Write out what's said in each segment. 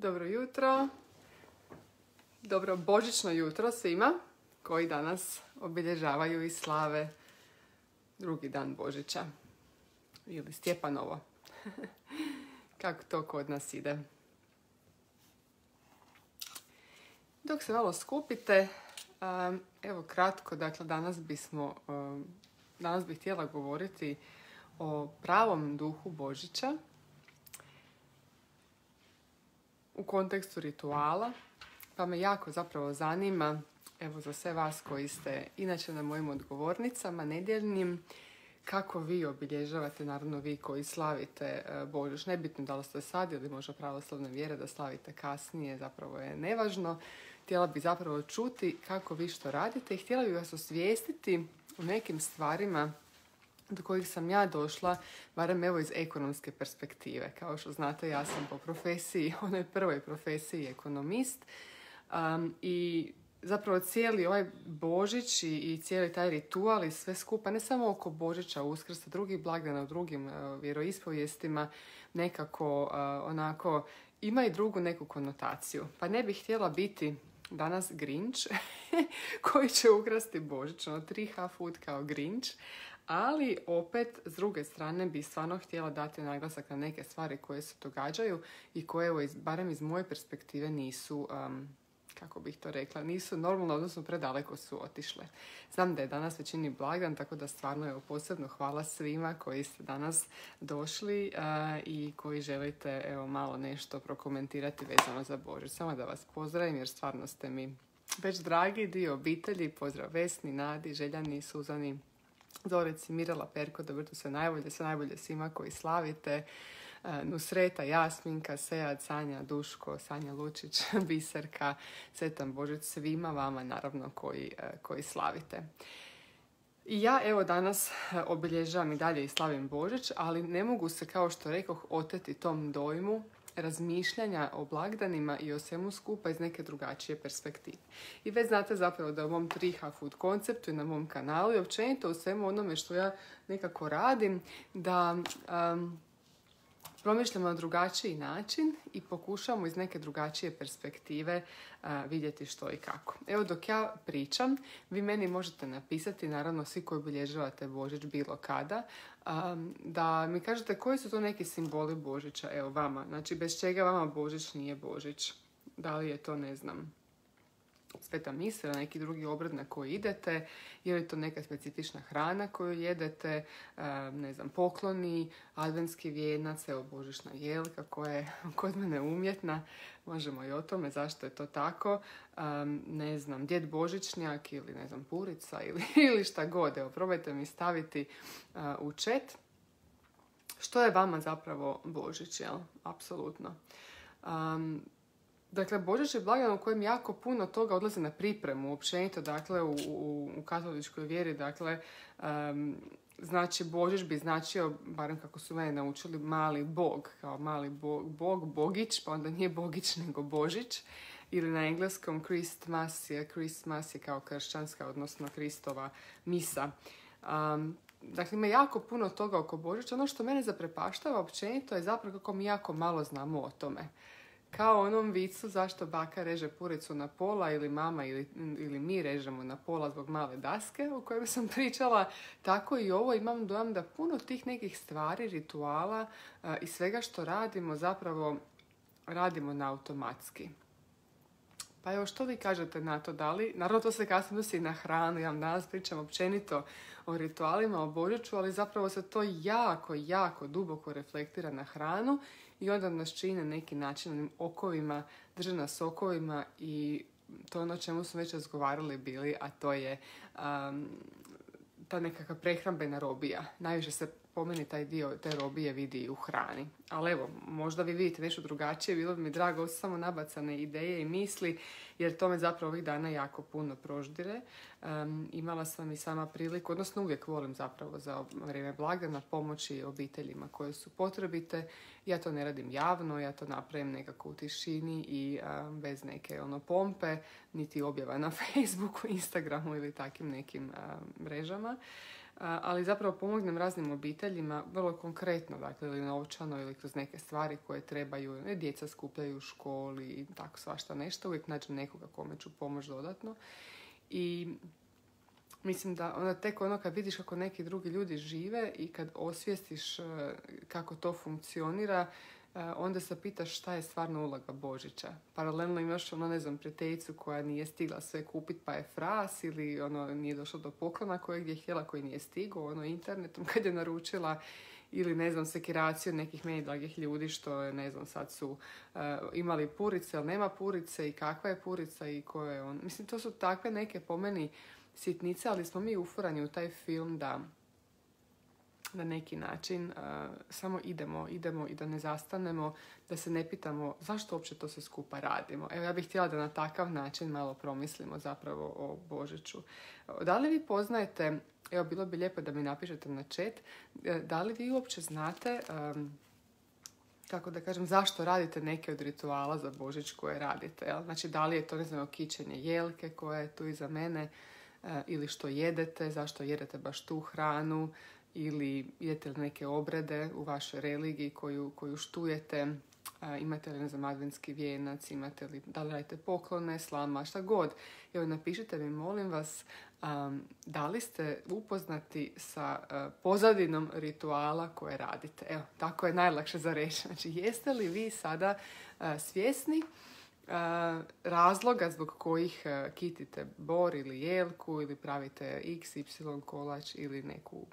Dobro jutro, dobro božićno jutro svima koji danas obilježavaju i slave drugi dan Božića ili Stjepanovo, kako to kod nas ide. Dok se malo skupite, evo kratko, dakle danas bih htjela govoriti o pravom duhu Božića u kontekstu rituala, pa me jako zapravo zanima, evo za sve vas koji ste inače na mojim odgovornicama nedjeljnim, kako vi obilježavate, naravno vi koji slavite Božić. Nebitno da li ste sad ili možda pravoslavne vjere da slavite kasnije, zapravo je nevažno. Htjela bih zapravo čuti kako vi što radite i htjela bih vas osvijestiti u nekim stvarima do kojih sam ja došla, barem evo iz ekonomske perspektive. Kao što znate, ja sam po profesiji, onoj prvoj profesiji ekonomist, i zapravo cijeli ovaj Božić i cijeli taj ritual i sve skupa, ne samo oko Božića, Uskrsa, drugih blagdana u drugim vjeroispovijestima, nekako onako ima i drugu neku konotaciju. Pa ne bih htjela biti danas Grinch koji će ukrasti Božić, 3H food kao Grinch, ali opet s druge strane bi stvarno htjela dati naglasak na neke stvari koje se događaju i koje, evo, barem iz moje perspektive nisu, kako bih to rekla, nisu normalno, odnosno predaleko su otišle. Znam da je danas većini blagdan, tako da stvarno evo, posebno hvala svima koji ste danas došli i koji želite evo, malo nešto prokomentirati vezano za Božić. Samo da vas pozdravim jer stvarno ste mi već dragi dio obitelji. Pozdrav Vesni, Nadi, Željani, Suzani, Zorici, Mirela, Perko, dobro sve najbolje svima koji slavite. Nusreta, Jasminka, Sejad, Sanja, Duško, Sanja Lučić, Biserka, Sretan Božić svima vama naravno koji slavite. I ja evo danas obilježavam i dalje i slavim Božić, ali ne mogu se, kao što rekoh, oteti tom dojmu razmišljanja o blagdanima i o svemu skupa iz neke drugačije perspektive. I već znate zapravo da u mom 3H food konceptu i na mom kanalu i općenito u svemu onome što ja nekako radim, da promišljamo na drugačiji način i pokušamo iz neke drugačije perspektive vidjeti što i kako. Evo dok ja pričam, vi meni možete napisati, naravno svi koji obilježavate Božić bilo kada, da mi kažete koji su to neki simboli Božića, evo vama, znači bez čega vama Božić nije Božić. Da li je to, ne znam, Sveta mise, neki drugi obrad na koji idete, je li to neka specifična hrana koju jedete, ne znam, pokloni, adventski vijenac, evo božićna jelka koja je kod mene umjetna, možemo i o tome zašto je to tako, ne znam, djed božićnjak ili ne znam, purica ili šta god, evo probajte mi staviti u chat što je vama zapravo Božić, jel? Apsolutno. Dakle, Božić je blagdan u kojem jako puno toga odlazi na pripremu, općenito, dakle, u katoličkoj vjeri, dakle, znači Božić bi značio, barem kako su mene naučili, mali bog, kao mali bog, bogić, pa onda nije bogić nego Božić, ili na engleskom Christmas je kao kršćanska, odnosno Kristova misa. Dakle, ima jako puno toga oko Božića. Ono što mene zaprepaštava općenito je zapravo kako mi jako malo znamo o tome. Kao onom vicu zašto baka reže puricu na pola ili mama ili mi režemo na pola zbog male daske o kojoj sam pričala, tako i ovo imam dojam da puno tih nekih stvari, rituala i svega što radimo zapravo radimo na automatski. Pa evo što vi kažete na to, da li, naravno to se kasnije odnosi na hranu, ja vam danas pričam općenito o ritualima, o Božiću, ali zapravo se to jako duboko reflektira na hranu i onda nas čini na neki način onim okovima, drže nas okovima i to je ono o čemu smo već razgovarali bili, a to je ta nekakva prehrambena robija. Najviše se po meni taj dio te robije vidi u hrani. Ali evo, možda vi vidite nešto drugačije, bilo bi mi drago, ovo su samo nabacane ideje i misli, jer to me zapravo ovih dana jako puno proždire. Imala sam i sama priliku, odnosno uvijek volim zapravo za vrijeme blagdana pomoći obiteljima koje su potrebite. Ja to ne radim javno, ja to napravim nekako u tišini i bez neke pompe, niti objava na Facebooku, Instagramu ili takim nekim mrežama. ali zapravo pomognem raznim obiteljima, vrlo konkretno, dakle, ili novčano, ili kroz neke stvari koje trebaju, djeca skupljaju u školi i tako svašta nešto, uvijek nađem nekoga kome ću pomoći dodatno. I mislim da tek kad vidiš kako neki drugi ljudi žive i kad osvijestiš kako to funkcionira, onda se pitaš šta je stvarno uloga Božića. Paralelno imaš prijateljicu koja nije stigla sve kupiti pa je fras, ili nije došlo do poklona kojeg je htjela, koji nije stigao internetom kad je naručila, ili sekiraciju nekih meni dragih ljudi što sad su imali purice, ali nema purice i kakva je purica i ko je on. Mislim, to su takve neke po meni sitnice, ali smo mi ufurani u taj film da na neki način samo idemo i da ne zastanemo, da se ne pitamo zašto uopće to sve skupa radimo. Evo, ja bih htjela da na takav način malo promislimo zapravo o Božiću. Da li vi poznajete, evo, bilo bi lijepo da mi napišete na chat, da li vi uopće znate, kako da kažem, zašto radite neke od rituala za Božić koje radite? Jel? Znači, da li je to, kićenje jelke koje je tu iza mene, ili što jedete, zašto jedete baš tu hranu, ili idete li neke obrede u vašoj religiji koju štujete, imate li, adventski vijenac, imate li, da li radite poklone, slama, šta god. Evo, napišite mi, molim vas, da li ste upoznati sa pozadinom rituala koje radite. Evo, tako je najlakše za reći. Znači, jeste li vi sada svjesni razloga zbog kojih kitite bor ili jelku, ili pravite x, y kolač, ili neku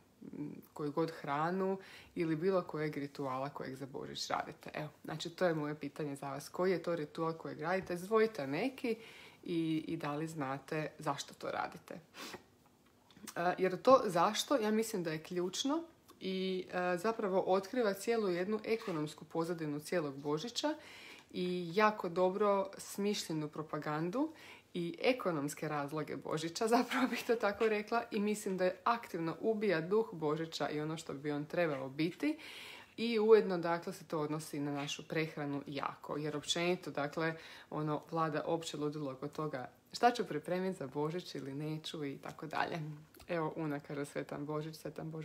koju god hranu, ili bilo kojeg rituala kojeg za Božić radite. Evo, znači, to je moje pitanje za vas. Koji je to ritual kojeg radite? Zvojite neki i da li znate zašto to radite. Jer to zašto, ja mislim da je ključno i zapravo otkriva cijelu jednu ekonomsku pozadinu cijelog Božića i jako dobro smišljenu propagandu i ekonomske razloge Božića, zapravo bih to tako rekla, i mislim da je aktivno ubija duh Božića i ono što bi on trebao biti, i ujedno, dakle, se to odnosi na našu prehranu jako, jer općenito, dakle, vlada opće ludilo oko toga šta ću pripremiti za Božić ili neću i tako dalje. Evo, Una kaže Sretan Božić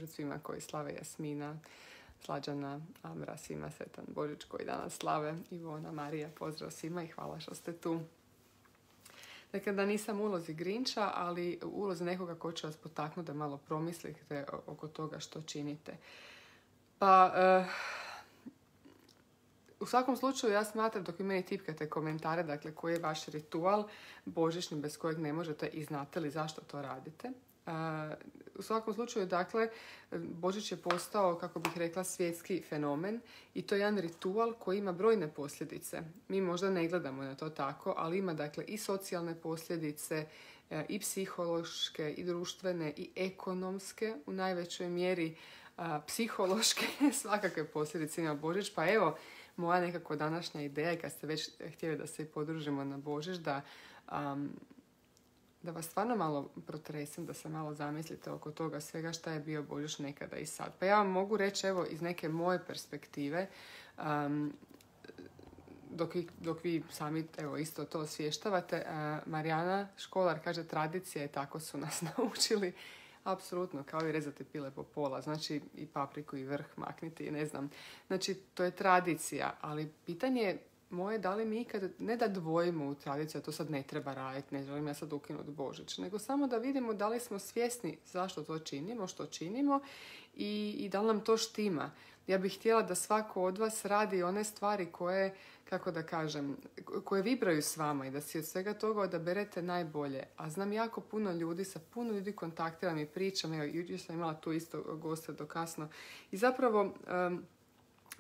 svima koji slave, Jasmina, Slađana, Amra, svima Sretan Božić koji danas slave, Ivona, Marija, pozdrav svima i hvala što ste tu. Dakle, da nisam u ulozi Grinča, ali u ulozi nekoga ko će vas potaknuti da malo promislite oko toga što činite. Pa, u svakom slučaju ja smatram, dok vi meni tipkate komentare, dakle, koji je vaš ritual božićni bez kojeg ne možete i znate li zašto to radite. U svakom slučaju, dakle, Božić je postao, kako bih rekla, svjetski fenomen i to je jedan ritual koji ima brojne posljedice. Mi možda ne gledamo na to tako, ali ima, dakle, i socijalne posljedice, i psihološke, i društvene, i ekonomske, u najvećoj mjeri psihološke, svakakve posljedice ima Božić. Pa evo, moja nekako današnja ideja, kad ste već htjeli da se podružimo na Božić, da vas stvarno malo protresem, da se malo zamislite oko toga svega šta je bio Božić nekada i sad. Pa ja vam mogu reći, evo, iz neke moje perspektive, dok vi sami, evo, isto to osvještavate, Marijana Školar kaže, tradicija je, tako su nas naučili. Apsolutno, kao i rezati pile po pola, znači i papriku i vrh makniti, i ne znam. Znači, to je tradicija, ali pitanje je moje, da li mi ikad, ne da dvojimo u tradiciju, a to sad ne treba raditi, ne želim ja sad ukinuti Božić, nego samo da vidimo da li smo svjesni zašto to činimo, što činimo i da li nam to štima. Ja bih htjela da svako od vas radi one stvari koje, kako da kažem, koje vibraju s vama i da si od svega toga odaberete najbolje. A znam jako puno ljudi, sa puno ljudi kontaktiram i pričam, evo, jučer sam imala tu isto goste do kasno. I zapravo,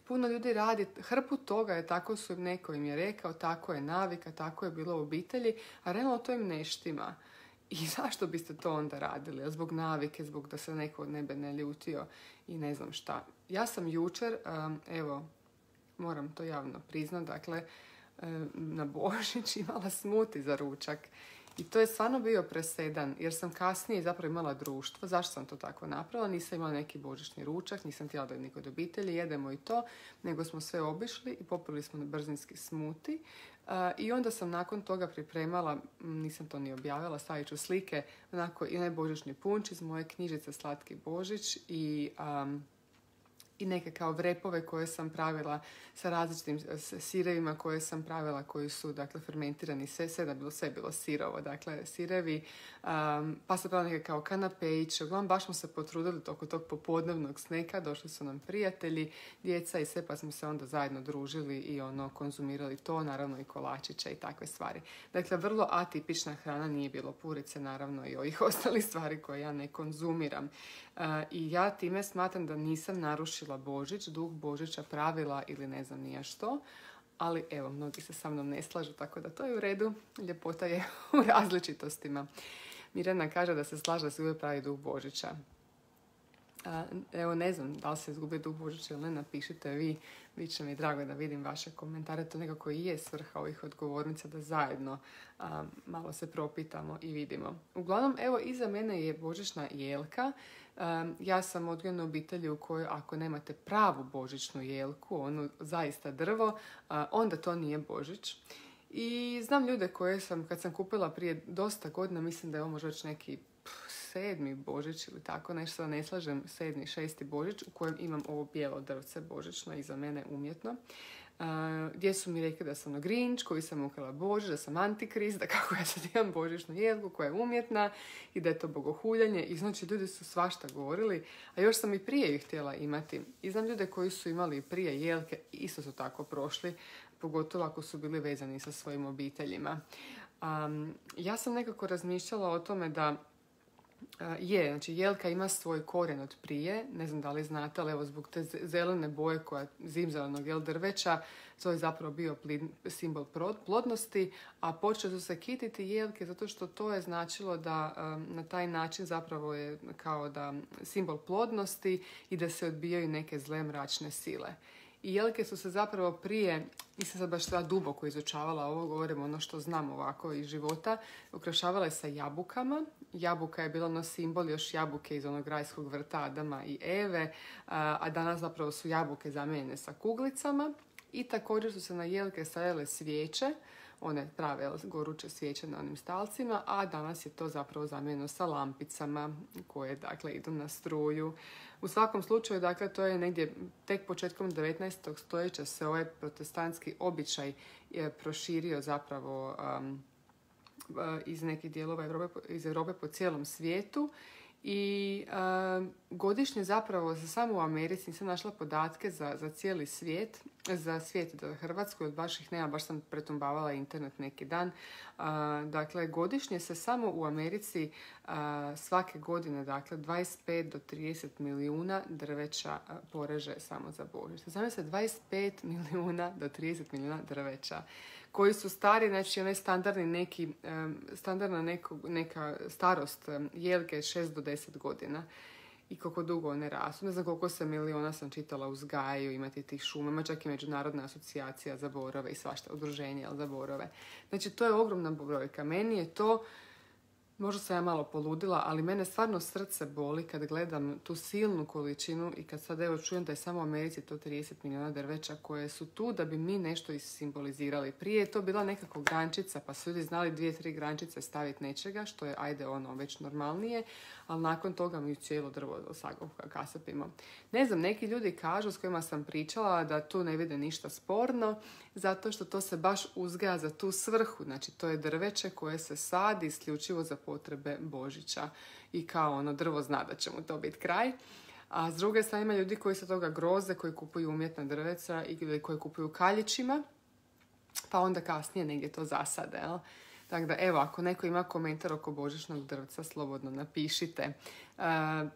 puno ljudi radi hrpu toga, je tako su im, neko im je rekao, tako je navika, tako je bilo u obitelji, a realno to im ne štima. I zašto biste to onda radili? Zbog navike, zbog da se neko od nebe ne ljutio i ne znam šta. Ja sam jučer, evo, moram to javno priznat, dakle, na Božić imala smuti za ručak. I to je stvarno bio presedan, jer sam kasnije zapravo imala društvo. Zašto sam to tako napravila? Nisam imala neki božićni ručak, nisam htjela da je niko od obitelji, jedemo i to, nego smo sve obišli i popili smo na brzinski smuti. I onda sam nakon toga pripremala, nisam to ni objavila, stavit ću slike, onako i onaj božićni punč iz moje knjižice Slatki Božić i neke kao vrepove koje sam pravila sa različitim sirevima koje sam pravila, koji su, dakle, fermentirani, sve je bilo sirovo, dakle, sirevi, pa sam pravila neke kao kanapejiće. Uglavnom, baš smo se potrudili oko tog popodnevnog sneka, došli su nam prijatelji, djeca i sve, pa smo se onda zajedno družili i konzumirali to, naravno i kolačiće i takve stvari. Dakle, vrlo atipična hrana, nije bilo purice, naravno, i ovih ostalih stvari koje ja ne konzumiram. I ja time smatram da nisam narušila Božić, duh Božića, pravila ili ne znam nija što, ali evo, mnogi se sa mnom ne slažu, tako da to je u redu, ljepota je u različitostima. Mirjana kaže da se slaže da se uvijek pravi duh Božića. Evo, ne znam da li se izgubi duh Božića ili ne, napišite vi, bit će mi drago da vidim vaše komentare, to nekako i je svrha ovih odgovornica, da zajedno malo se propitamo i vidimo. Uglavnom, evo, iza mene je božićna jelka. Ja sam odgojena u obitelji u kojoj ako nemate pravu božićnu jelku, onu zaista drvo, onda to nije Božić. I znam ljude koje kad sam kupila prije dosta godina, mislim da je ovo možda već neki 7. Božić ili tako nešto, da ne slažem, 7., 6. Božić u kojem imam ovo bijelo drvce božićno iza mene umjetno. Gdje su mi rekli da sam Grinch, koji sam ukrala Božić, da sam Antikrist, da kako ja sad imam božićnu jelku koja je umjetna i da je to bogohuljanje. I znači ljudi su svašta govorili, a još sam i prije ih htjela imati. I znam ljude koji su imali prije jelke, isto su tako prošli, pogotovo ako su bili vezani sa svojim obiteljima. Ja sam nekako razmišljala o tome da znači jelka ima svoj korijen od prije, ne znam da li znate, ali evo zbog te zelene boje zimzelenog drveća, to je zapravo bio simbol plodnosti, a počeli su se kititi jelke zato što to je značilo da na taj način zapravo je kao da simbol plodnosti i da se odbijaju neke zle mračne sile. I jelke su se zapravo prije, nisam sad baš duboko izučavala ovo, govorim ono što znam ovako iz života, ukrašavale sa jabukama. Jabuka je bila simbol još jabuke iz onog rajskog vrta Adama i Eve, a danas zapravo su jabuke zamijenjene sa kuglicama. I također su se na jelke stavljale svijeće, one prave goruće svijeće na onim stalcima, a danas je to zapravo zamijenjeno sa lampicama koje, dakle, idu na struju. U svakom slučaju, dakle, to je negdje tek početkom 19. stoljeća se ovaj protestantski običaj proširio zapravo iz nekih dijelova iz Europe po cijelom svijetu. I godišnje zapravo samo u Americi nisam našla podatke za cijeli svijet, za svijet za Hrvatsku, jer baš ih nema, baš sam pretumbavala internet neki dan. Dakle, godišnje se samo u Americi svake godine, dakle, 25 do 30 milijuna drveća poreže samo za Božić. Znam se 25 milijuna do 30 milijuna drveća koji su stari, znači onaj standardna neka starost jelke je 6 do 10 godina i koliko dugo one rastu. Ne znam koliko se miliona sam čitala uzgajaju, imati tih šuma, čak i Međunarodna asocijacija za borove i svašta, udruženje za borove. Znači, to je ogromna brojka. Meni je to, možda sam ja malo poludila, ali mene stvarno srce boli kad gledam tu silnu količinu i kad sad evo čujem da je samo u Americi to 30 milijuna drveća koje su tu da bi mi nešto isimbolizirali. Prije je to bila nekako grančica, pa su ljudi znali 2-3 grančice staviti nečega, što je već normalnije, ali nakon toga mi cijelo drvo kasapimo. Ne znam, neki ljudi kažu s kojima sam pričala da tu ne vide ništa sporno, zato što to se baš uzgaja za tu svrhu. Znači, to je drveće koje se sadi isključivo za potrebe Božića i kao drvo zna da će mu to biti kraj. A s druge strane ima ljudi koji se toga groze, koji kupuju umjetna drveća ili koji kupuju kaljićima, pa onda kasnije negdje to zasade, jel? Tako da, evo, ako neko ima komentar oko božićnog drvca, slobodno napišite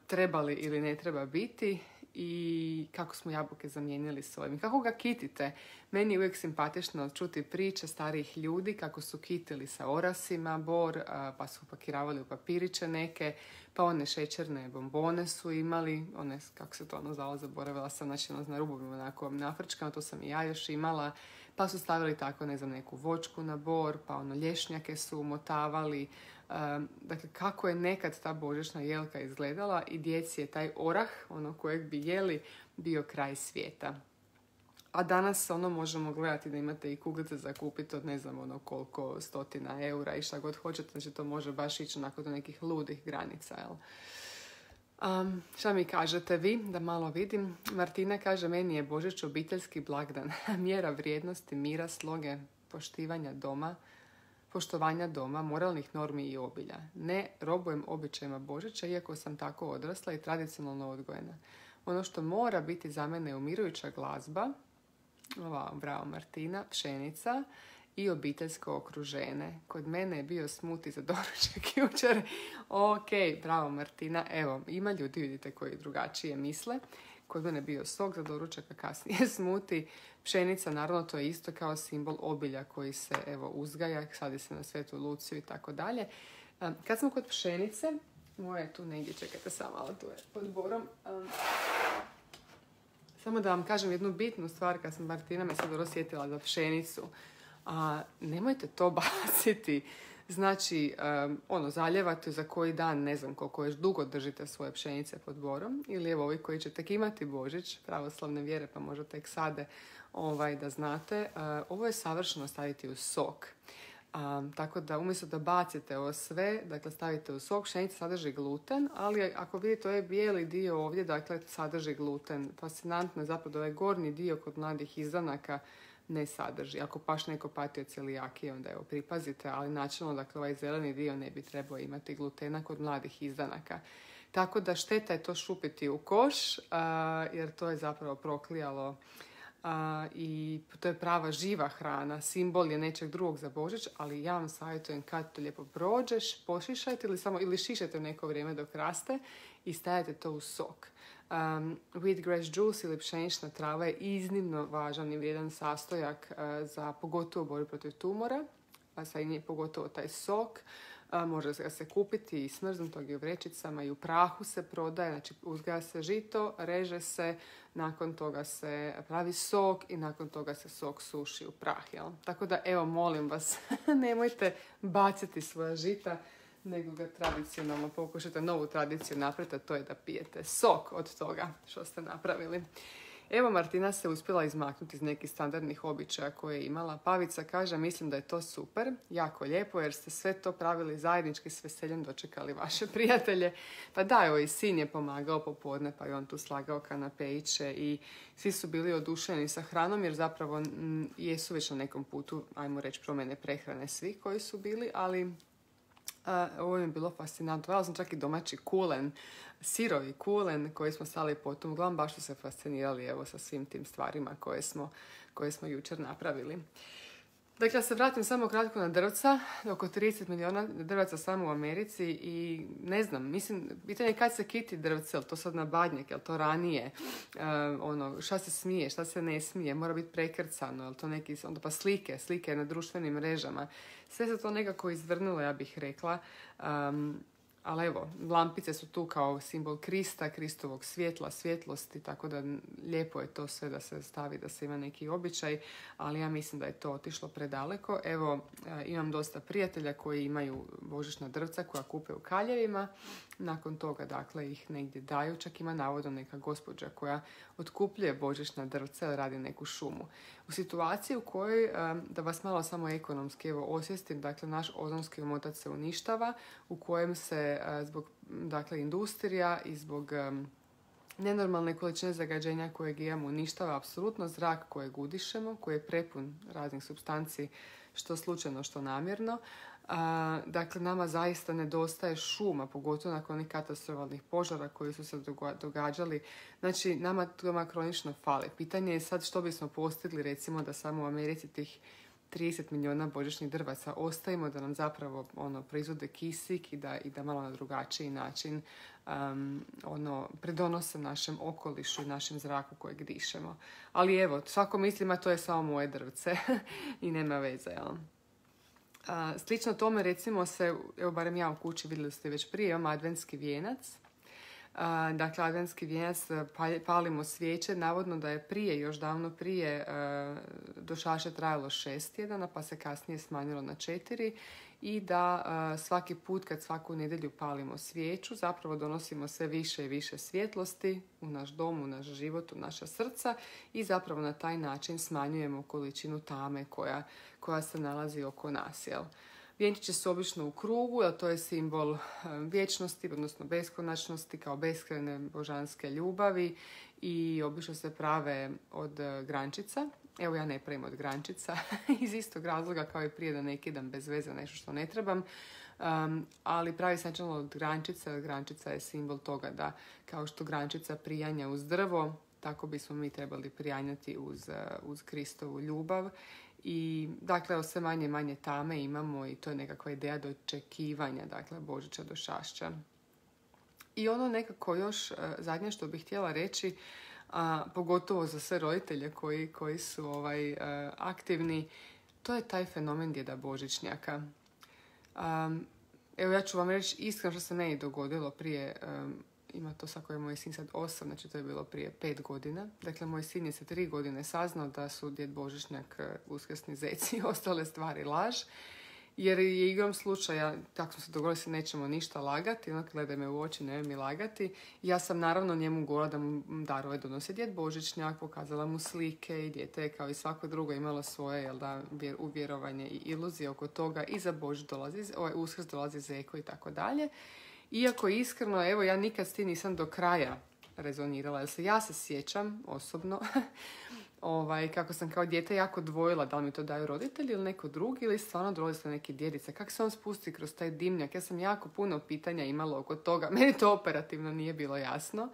treba li ili ne treba biti i kako smo jabuke zamijenili s ovim. Kako ga kitite? Meni je uvijek simpatično čuti priče starijih ljudi kako su kitili sa orasima bor, pa su pakiravali u papiriće neke, pa one šećerne bombone su imali, one, kako se to ono zvalo, zaboravila sam, znači na rubovima onako nafrčkama, to sam i ja još imala, pa su stavili tako, ne znam, neku voćku na bor, pa ono lješnjake su umotavali. Dakle, kako je nekad ta božićna jelka izgledala i djeci je taj orah, ono kojeg bi jeli, bio kraj svijeta. A danas ono možemo gledati da imate i kuglice za kupiti od ne znam ono koliko stotina eura i šta god hoćete, znači to može baš ići onako do nekih ludih granica, jel? Šta mi kažete vi, da malo vidim? Martina kaže, meni je Božić obiteljski blagdan, mjera vrijednosti, mira, sloge, poštovanja doma, moralnih normi i obilja. Ne robujem običajima Božića, iako sam tako odrasla i tradicionalno odgojena. Ono što mora biti za mene je umirujuća glazba, bravo Martina, pšenica i obiteljsko okruženje. Kod mene je bio smuti za doručak jučer. Ok, bravo Martina. Evo, ima ljudi, vidite, koji drugačije misle. Kod mene je bio sok za doručak, a kasnije smuti. Pšenica, naravno, to je isto kao simbol obilja koji se, evo, uzgaja, sadi se na Svetu Luciju i tako dalje. Kad smo kod pšenice, moje tu negdje, čekajte samo malo, tu je pod borom. Samo da vam kažem jednu bitnu stvar, kad sam Martina me sad dobro sjetila za pšenicu. Nemojte to baciti. Znači, zaljevate za koji dan, ne znam koliko još dugo držite svoje pšenice pod borom. Ili evo ovi koji će tek imati Božić, pravoslavne vjere, pa možda tek sade da znate. Ovo je savršeno staviti u sok. Tako da umjesto da bacite ovo sve, dakle stavite u sok, pšenica sadrži gluten, ali ako vidite ovaj bijeli dio ovdje, dakle sadrži gluten. Fascinantno je zapravo da ovaj gornji dio kod mladih izdanaka ne sadrži. Ako baš neko pati od celijakije, onda evo pripazite, ali načelno, dakle ovaj zeleni dio ne bi trebao imati glutena kod mladih izdanaka. Tako da šteta je to šupiti u koš, jer to je zapravo proklijalo i to je prava živa hrana, simbol je nečeg drugog za Božić, ali ja vam savjetujem kad to lijepo prođeš, pošišajte ili šišajte neko vrijeme dok raste i stavite to u sok. Wheatgrass juice ili pšenična trava je iznimno važan i vrijedan sastojak za pogotovo borbu protiv tumora, pa sad je pogotovo taj sok. Može ga se kupiti i smrznutog i u vrećicama i u prahu se prodaje, znači uzgaja se žito, reže se, nakon toga se pravi sok i nakon toga se sok suši u prah. Jel? Tako da evo molim vas, nemojte baciti svoja žita, nego ga tradicionalno pokušajte novu tradiciju napraviti, a to je da pijete sok od toga što ste napravili. Evo, Martina se uspjela izmaknuti iz nekih standardnih običaja koje je imala. Pavica kaže, mislim da je to super, jako lijepo, jer ste sve to pravili zajednički, s veseljem dočekali vaše prijatelje. Pa da, evo i sin je pomagao popodne, pa je on tu slagao kanapeiće i svi su bili oduševljeni sa hranom, jer zapravo jesu već na nekom putu, ajmo reći, promjene prehrane svi koji su bili, ali ovo je bilo fascinantno. Vala sam čak i domaći kulen, sirovi kulen koji smo stali potom. Uglavnom baš su se fascinirali evo sa svim tim stvarima koje smo jučer napravili. Dakle, ja se vratim samo kratko na drvca. Oko 30 milijuna drvaca samo u Americi i ne znam, mislim, pitanje je kad se kiti drvce, je li to sad na badnjak, je li to ranije, šta se smije, šta se ne smije, mora biti prekrcano, je li to neki, onda pa slike na društvenim mrežama. Sve se to nekako izvrnulo, ja bih rekla. Ali evo, lampice su tu kao simbol Krista, Kristovog svjetla, svjetlosti, tako da lijepo je to sve da se stavi, da se ima neki običaj, ali ja mislim da je to otišlo predaleko. Evo, imam dosta prijatelja koji imaju božićna drvca koja kupe u kaljevima, nakon toga, dakle, ih negdje daju, čak ima navodno neka gospođa koja otkupljuje božićna drvca, radi neku šumu. U situaciji u kojoj, da vas malo samo ekonomski evo osvijestim, dakle, naš ozonski omotač se uništava, u kojem se zbog, dakle, industrija i zbog nenormalne količine zagađenja kojeg imamo uništava apsolutno zrak kojeg udišemo, koji je prepun raznih supstanci, što slučajno, što namjerno. Dakle, nama zaista nedostaje šuma, pogotovo nakon onih katastrofalnih požara koji su se događali. Znači, nama kronično fali. Pitanje je sad što bismo postigli, recimo, da samo u Americi tih 30 milijuna božićnih drvaca ostavimo da nam zapravo proizvode kisik i da malo na drugačiji način pridonose našem okolišu i našem zraku kojeg dišemo. Ali evo, svako mislima to je samo moje drvce i nema veze, jel? Slično tome recimo se, evo barem ja u kući, vidjeli ste već prije, imam adventski vijenac. Dakle, adventski vijenac, palimo svijeće, navodno da je još davno prije do šaše trajalo 6 tjedana, pa se kasnije smanjilo na 4 i da svaki put kad svaku nedjelju palimo svijeću, zapravo donosimo sve više i više svjetlosti u naš dom, u naš život, u naša srca i zapravo na taj način smanjujemo količinu tame koja se nalazi oko nas, jel? Vjenčići su obično u krugu, jer to je simbol vječnosti, odnosno beskonačnosti, kao beskrajne božanske ljubavi i obično se prave od grančica. Evo, ja ne pravim od grančica iz istog razloga kao i prije, da ne kidam bez veze nešto što ne trebam. Ali pravi se načelno od grančica. Grančica je simbol toga da kao što grančica prijanja uz drvo, tako bismo mi trebali prijanjati uz Kristovu ljubav. I dakle, sve manje i manje tame imamo i to je nekakva ideja dočekivanja, dakle, Božića do Šašća. I ono nekako još zadnje što bih htjela reći, pogotovo za sve roditelje koji su aktivni, to je taj fenomen djeda Božićnjaka. Evo, ja ću vam reći iskreno što se meni dogodilo prije, ima to sad koji je moj sin sad 8, znači to je bilo prije 5 godina. Dakle, moj sin je sa 3 godine saznao da su djed Božićnjak, uskrsni zeci i ostale stvari laž. Jer je igrom slučaja, tako smo se dogovorili, se nećemo ništa lagati, gledaj me u oči, ne mi lagati. Ja sam naravno njemu govorila da mu darove donosi djed Božićnjak, pokazala mu slike i dijete kao i svako drugo imalo svoje uvjerovanje i iluzije oko toga. I za Božić dolazi, Uskrs dolazi zeko i tako dalje. Iako iskreno, evo, ja nikad s tim nisam do kraja rezonirala, jer ja se sjećam osobno kako sam kao dijete jako dvojila da li mi to daju roditelji ili neko drugi ili stvarno dolazi neki djedica. Kako se on spusti kroz taj dimnjak? Ja sam jako puno pitanja imala oko toga. Meni to operativno nije bilo jasno.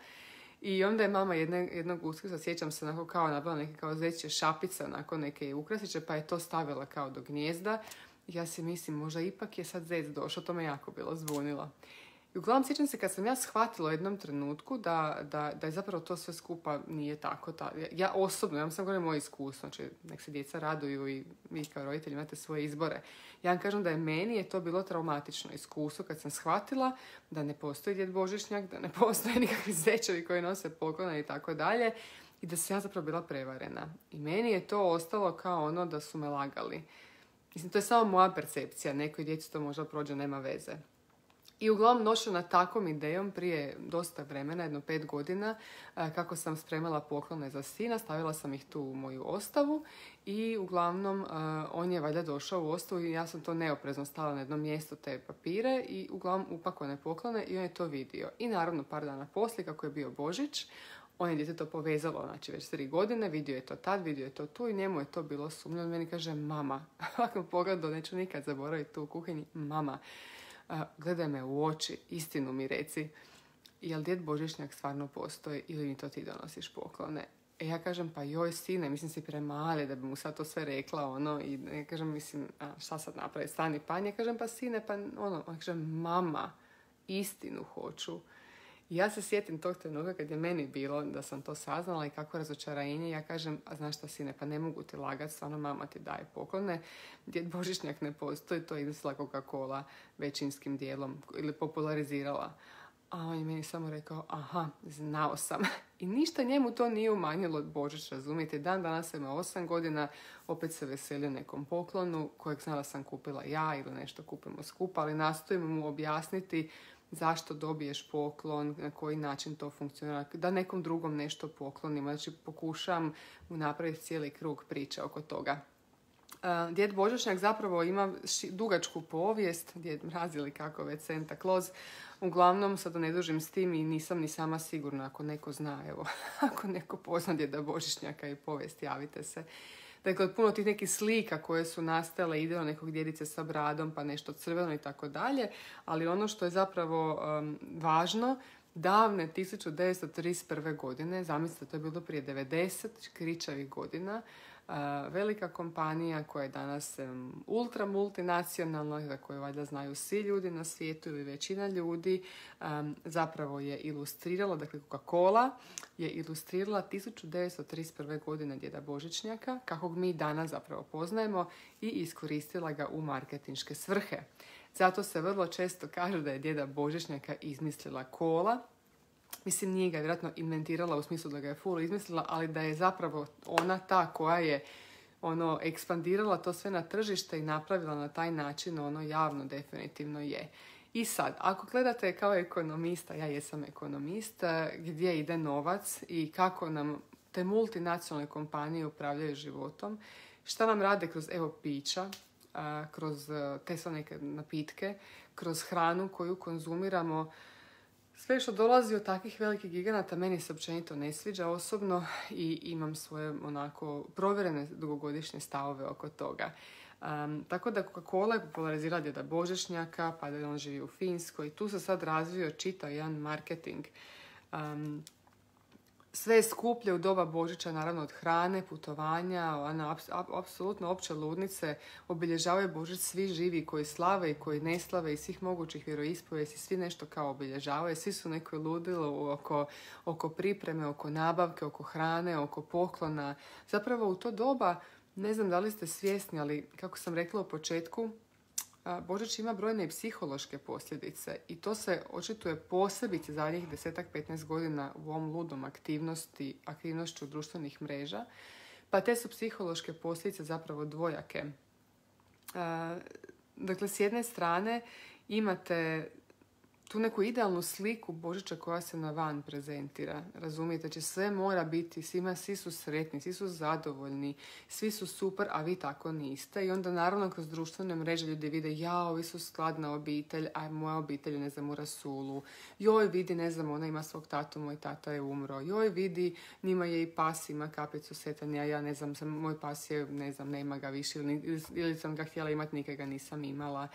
I onda je mama jednog Uskrsa, sjećam se, onako kao nabila neke kao zečje šapice, onako neke ukrasiće, pa je to stavila kao do gnijezda. Ja si mislim, možda ipak je sad zec došao, to me jako bilo zbunilo. I uglavnom sjećam se kad sam ja shvatila u jednom trenutku da je zapravo to sve skupa nije tako. Ja osobno, ja vam sam govorim moje iskustvo, znači nek se djeca raduju i vi kao roditelji imate svoje izbore. Ja vam kažem da je meni to bilo traumatično iskustvo kad sam shvatila da ne postoji djed Božićnjak, da ne postoje nikakvi zečevi koji nose poklone i tako dalje i da sam ja zapravo bila prevarena. I meni je to ostalo kao ono da su me lagali. Mislim, to je samo moja percepcija, nekoj djeci to možda prođe, nema veze. I uglavnom došla na takvom idejom prije dosta vremena, jedno 5 godina, kako sam spremala poklone za sina, stavila sam ih tu u moju ostavu i uglavnom on je valjda došao u ostavu i ja sam to neoprezno stavila na jedno mjesto te papire i uglavnom upakovane poklone i on je to vidio. I naravno par dana poslije, kako je bio Božić, on je dijete to povezalo, znači već 3 godine, vidio je to tad, vidio je to tu i njemu je to bilo sumnjivo. On meni kaže, mama, ovakvom pogledu neću nikad zaboraviti tu u kuhinji, mama, gledaj me u oči, istinu mi reci, jel djed Božićnjak stvarno postoji ili mi to ti donosiš poklone? Ja kažem, pa joj sine, mislim si premali da bi mu sad to sve rekla, i ja kažem, mislim, šta sad napraviti, stani panj, ja kažem, pa sine, pa on kaže, mama, istinu hoću. I ja se sjetim tog trenutka kad je meni bilo da sam to saznala i kako razočarenje, ja kažem, a znaš šta sine, pa ne mogu ti lagati, stvarno mama ti daje poklone, djed Božićnjak ne postoji, to je izmislila Coca-Cola većinskim dijelom ili popularizirala. A on je meni samo rekao, aha, znao sam. I ništa njemu to nije umanjilo od Božić, razumijete. Dan danas ima 8 godina, opet se veselio nekom poklonu kojeg znala sam kupila ja ili nešto kupimo skupa, ali nastojimo mu objasniti zašto dobiješ poklon, na koji način to funkcionira, da nekom drugom nešto poklonimo. Znači pokušam mu napraviti cijeli krug priče oko toga. Djed Božićnjak zapravo ima dugačku povijest, Djed Mraz ili kako već Santa Claus. Uglavnom, sad da ne dužim s tim i nisam ni sama sigurna, ako neko zna, evo, ako neko pozna Djeda Božićnjaka i povijest, javite se. Dakle, puno tih nekih slika koje su nastale, ideo nekog djedice sa bradom, pa nešto crveno i tako dalje, ali ono što je zapravo važno, davne 1931. godine, zamislite, to je bilo prije 90 kričavih godina, velika kompanija koja je danas ultra multinacionalna, za koju valjda znaju svi ljudi na svijetu ili većina ljudi, zapravo je ilustrirala, dakle Coca-Cola je ilustrirala 1931. godine djeda Božićnjaka, kakvog mi danas zapravo poznajemo, i iskoristila ga u marketinške svrhe. Zato se vrlo često kaže da je djeda Božićnjaka izmislila kola. Mislim, nije ga vjerojatno inventirala u smislu da ga je full izmislila, ali da je zapravo ona ta koja je ekspandirala to sve na tržište i napravila na taj način, javno definitivno je. I sad, ako gledate kao ekonomista, ja jesam ekonomist, gdje ide novac i kako nam te multinacionalne kompanije upravljaju životom, šta nam rade kroz pića, kroz te sve neke napitke, kroz hranu koju konzumiramo. Sve što dolazi od takvih velikih giganata meni se općenito ne sviđa osobno i imam svoje provjerene dugogodišnje stavove oko toga. Tako da Coca-Cola je popularizirala djeda Božićnjaka, pa da on živi u Finskoj. Tu se sad razvio čitav jedan marketing. Sve je skuplje u doba Božića, naravno od hrane, putovanja, apsolutno opće ludnice. Obilježavaju Božić svi živi koji slave i koji ne slave i svih mogućih vjeroispovijesti, svi nešto kao obilježavaju. Svi su neko ludilo oko pripreme, oko nabavke, oko hrane, oko poklona. Zapravo u to doba, ne znam da li ste svjesni, ali kako sam rekla u početku, Božić ima brojne i psihološke posljedice i to se očituje posebice zadnjih 10-15 godina u ovom ludom aktivnošću društvenih mreža. Pa te su psihološke posljedice zapravo dvojake. Dakle, s jedne strane imate tu neku idealnu sliku Božića koja se na van prezentira. Razumijete, će sve mora biti, svi su sretni, svi su zadovoljni, svi su super, a vi tako niste. I onda naravno kroz društvene mreže ljudi vide, ovi su skladna obitelj, a moja obitelj je, ne znam, u rasulu. Joj, vidi, ne znam, ona ima svog tatu, moj tata je umro. Joj, vidi, njima je i pas, ima kapicu setanja, ja ne znam, moj pas je, ne znam, nema ga više, ili sam ga htjela imati, nikad ga nisam imala.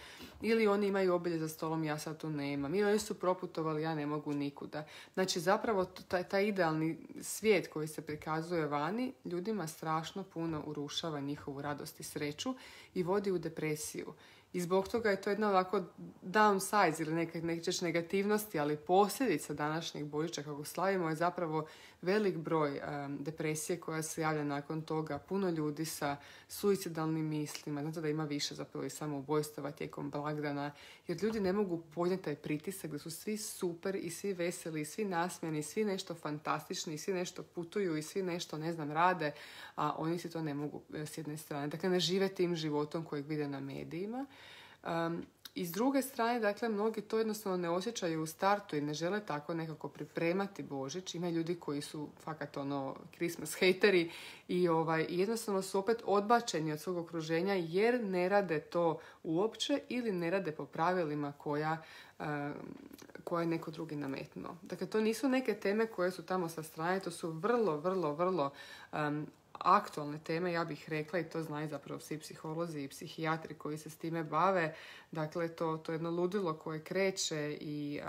Ili oni imaju obilje za stolom, ja sad tu nemam. Oni su proputovali, ja ne mogu nikuda. Znači, zapravo, taj idealni svijet koji se prikazuje vani, ljudima strašno puno urušava njihovu radost i sreću i vodi u depresiju. I zbog toga je to jedna ovako downsize ili nećeš negativnosti, ali posljedica današnjeg Božića kako slavimo je zapravo velik broj depresije koja se javlja nakon toga. Puno ljudi sa suicidalnim mislima. Znate da ima više zapravo i samoubojstava tijekom blagdana. Jer ljudi ne mogu podnijeti taj pritisak da su svi super i svi veseli i svi nasmijani i svi nešto fantastični i svi nešto putuju i svi nešto, ne znam, rade, a oni si to ne mogu s jedne strane. Dakle, ne žive tim životom kojeg vide na medijima. I s druge strane, dakle, mnogi to jednostavno ne osjećaju u startu i ne žele tako nekako pripremati Božić. Ima ljudi koji su fakat Christmas hejteri i jednostavno su opet odbačeni od svog okruženja jer ne rade to uopće ili ne rade po pravilima koje je neko drugi nametnuo. Dakle, to nisu neke teme koje su tamo sa strane, to su vrlo, vrlo, vrlo aktualne teme, ja bih rekla, i to znaju zapravo svi psiholozi i psihijatri koji se s time bave. Dakle, to je jedno ludilo koje kreće i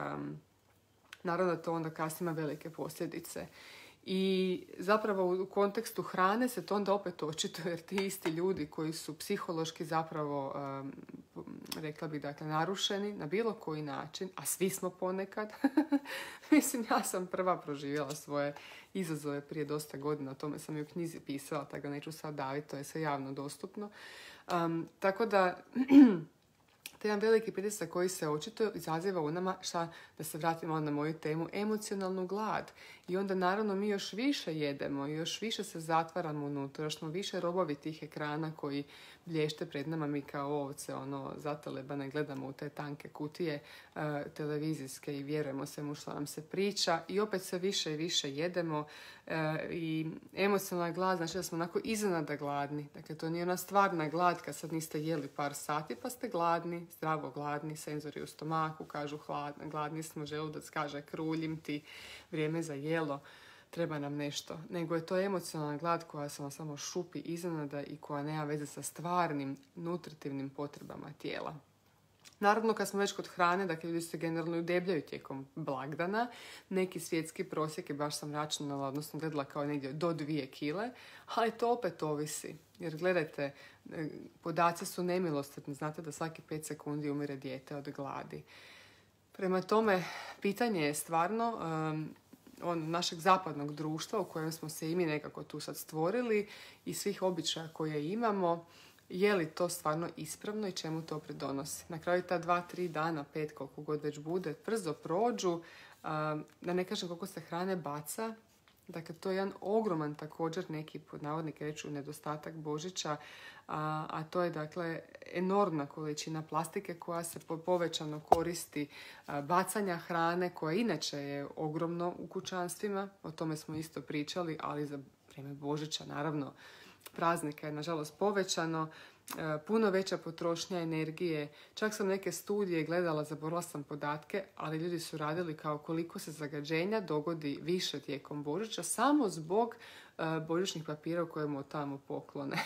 naravno da to onda kasnije ima velike posljedice. I zapravo u kontekstu hrane se to onda opet očituje jer ti isti ljudi koji su psihološki zapravo, rekla bih, dakle, narušeni na bilo koji način, a svi smo ponekad. Mislim, ja sam prva proživjela svoje izazove prije dosta godina, o tome sam i u knjizi pisala, tako da neću sad daviti, to je sve javno dostupno. Tako da te jedan veliki pritisak koji se očito izaziva u nama, da se vratimo na moju temu, emocionalnu glad. I onda naravno mi još više jedemo, još više se zatvaramo unutra, još smo više robovi tih ekrana koji blješte pred nama, mi kao ovce, zatelebane, gledamo u te tanke kutije televizijske i vjerujemo svemu što nam se priča i opet sve više i više jedemo i emocionalna glad, znači da smo onako iznenada gladni. Dakle, to nije ona stvarna glad kad sad niste jeli par sati pa ste gladni, zdravo gladni, senzori u stomaku kažu gladni smo, želudac kaže kruljim ti, vrijeme za jelo, treba nam nešto. Nego je to emocionalna glad koja se samo šupi iznenada i koja nema veze sa stvarnim nutritivnim potrebama tijela. Naravno, kad smo već kod hrane, dakle, ljudi se generalno udebljaju tijekom blagdana. Neki svjetski prosjek je, baš sam računala, odnosno gledala kao negdje do 2 kile, ali to opet ovisi. Jer gledajte, podaci su nemilosrdni. Znate da svaki 5 sekundi umire dijete od gladi. Prema tome, pitanje je stvarno našeg zapadnog društva u kojem smo se i mi nekako tu sad stvorili i svih običaja koje imamo, je li to stvarno ispravno i čemu to pridonosi. Na kraju ta 2-3 dana, 5 koliko god već bude, brzo prođu, da ne kažem koliko se hrane baca. Dakle, to je jedan ogroman također neki, pod navodnike reću, nedostatak Božića, a to je dakle enormna količina plastike koja se povećano koristi, bacanja hrane koja inače je ogromno u kućanstvima, o tome smo isto pričali, ali za vrijeme Božića naravno praznika je nažalost povećano, puno veća potrošnja energije. Čak sam neke studije gledala, zaboravila sam podatke, ali ljudi su radili kao koliko se zagađenja dogodi više tijekom Božića samo zbog božićnih papira u kojemu tamo poklone.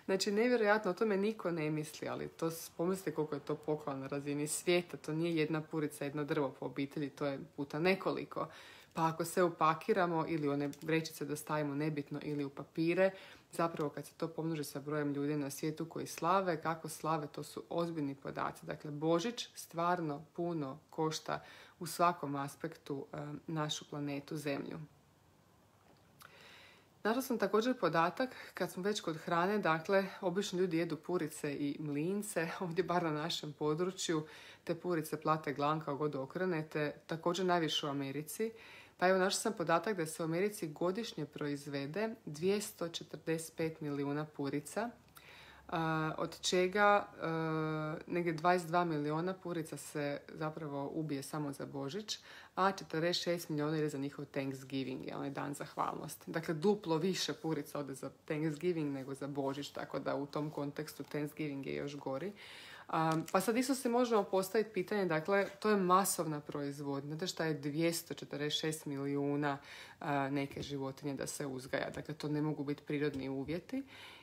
Znači, nevjerojatno, o tome niko ne misli, ali to pomislite koliko je to poklon na razini svijeta. To nije jedna purica, jedno drvo po obitelji, to je puta nekoliko. Pa ako se upakiramo ili one vrećice da stavimo nebitno ili u papire, zapravo kad se to pomnoži sa brojem ljudi na svijetu koji slave, kako slave, to su ozbiljni podaci. Dakle, Božić stvarno puno košta u svakom aspektu našu planetu Zemlju. Našla sam također podatak, kad smo već kod hrane, dakle, obično ljudi jedu purice i mlince, ovdje bar na našem području, te purice plate glan kao god okrenete, također najviše u Americi. Pa evo, našla sam podatak da se u Americi godišnje proizvede 245 milijuna purica, od čega negdje 22 milijuna purica se zapravo ubije samo za Božić, a 46 milijuna ide za njihov Thanksgiving, onaj dan zahvalnosti. Dakle, duplo više purica ode za Thanksgiving nego za Božić, tako da u tom kontekstu Thanksgiving je još gori. Pa sad isto se možemo postaviti pitanje, dakle, to je masovna proizvodnja. Znate šta je 246 milijuna neke životinje da se uzgaja? Dakle, to ne mogu biti prirodni uvjeti.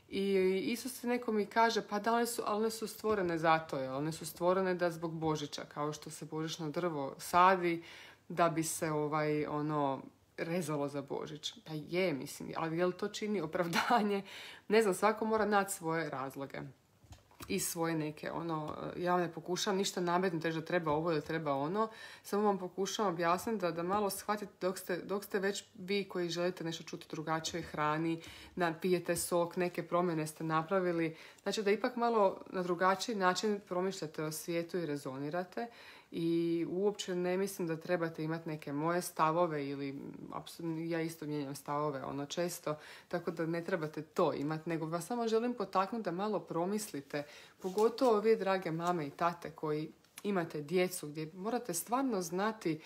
I isto se neko mi kaže, pa da, one su stvorene zato, one su stvorene da zbog Božića, kao što se božićno drvo sadi, da bi se rezalo za Božić. Pa je, mislim, ali je li to čini opravdanje? Ne znam, svako mora naći svoje razloge i svoje neke, ja ne pokušavam ništa nametnuti, da treba ovo ili treba ono, samo vam pokušavam objasniti da malo shvatite dok ste već vi koji želite nešto čuti drugačijoj hrani, pijete sok, neke promjene ste napravili, znači da ipak malo na drugačiji način promišljate o svijetu i rezonirate. I uopće ne mislim da trebate imati neke moje stavove ili ja isto mijenjam stavove često, tako da ne trebate to imati, nego vas samo želim potaknuti da malo promislite, pogotovo vi drage mame i tate koji imate djecu gdje morate stvarno znati,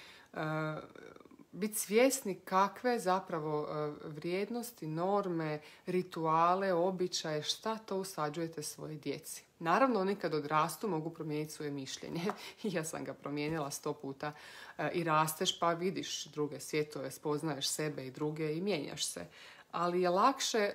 biti svjesni kakve zapravo vrijednosti, norme, rituale, običaje, šta to usađujete svoje djeci. Naravno, oni kad odrastu mogu promijeniti svoje mišljenje. Ja sam ga promijenila 100 puta. I rasteš pa vidiš druge svjetove, spoznaješ sebe i druge i mijenjaš se. Ali je lakše,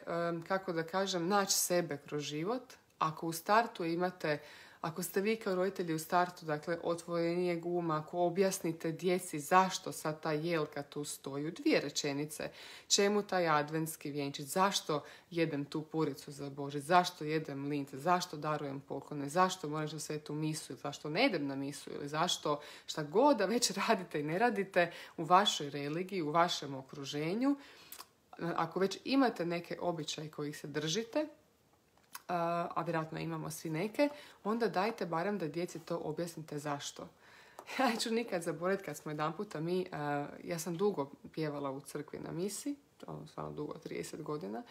kako da kažem, naći sebe kroz život ako u startu imate, ako ste vi kao roditelji u startu, dakle, otvorenije uma, ako objasnite djeci zašto sad ta jelka tu stoji u 2 rečenice, čemu taj adventski vjenčić, zašto jedem tu puricu za Božić, zašto jedem lince, zašto darujem poklone, zašto moram na svetu misu, zašto ne idem na misu ili zašto šta god da već radite i ne radite u vašoj religiji, u vašem okruženju, ako već imate neke običaje kojih se držite, a vjerojatno imamo svi neke, onda dajte barem da djeci to objasnite zašto. Ja ću nikad zaboraviti kad smo jedan puta ja sam dugo pjevala u crkvi na misi, stvarno dugo, 30 godina,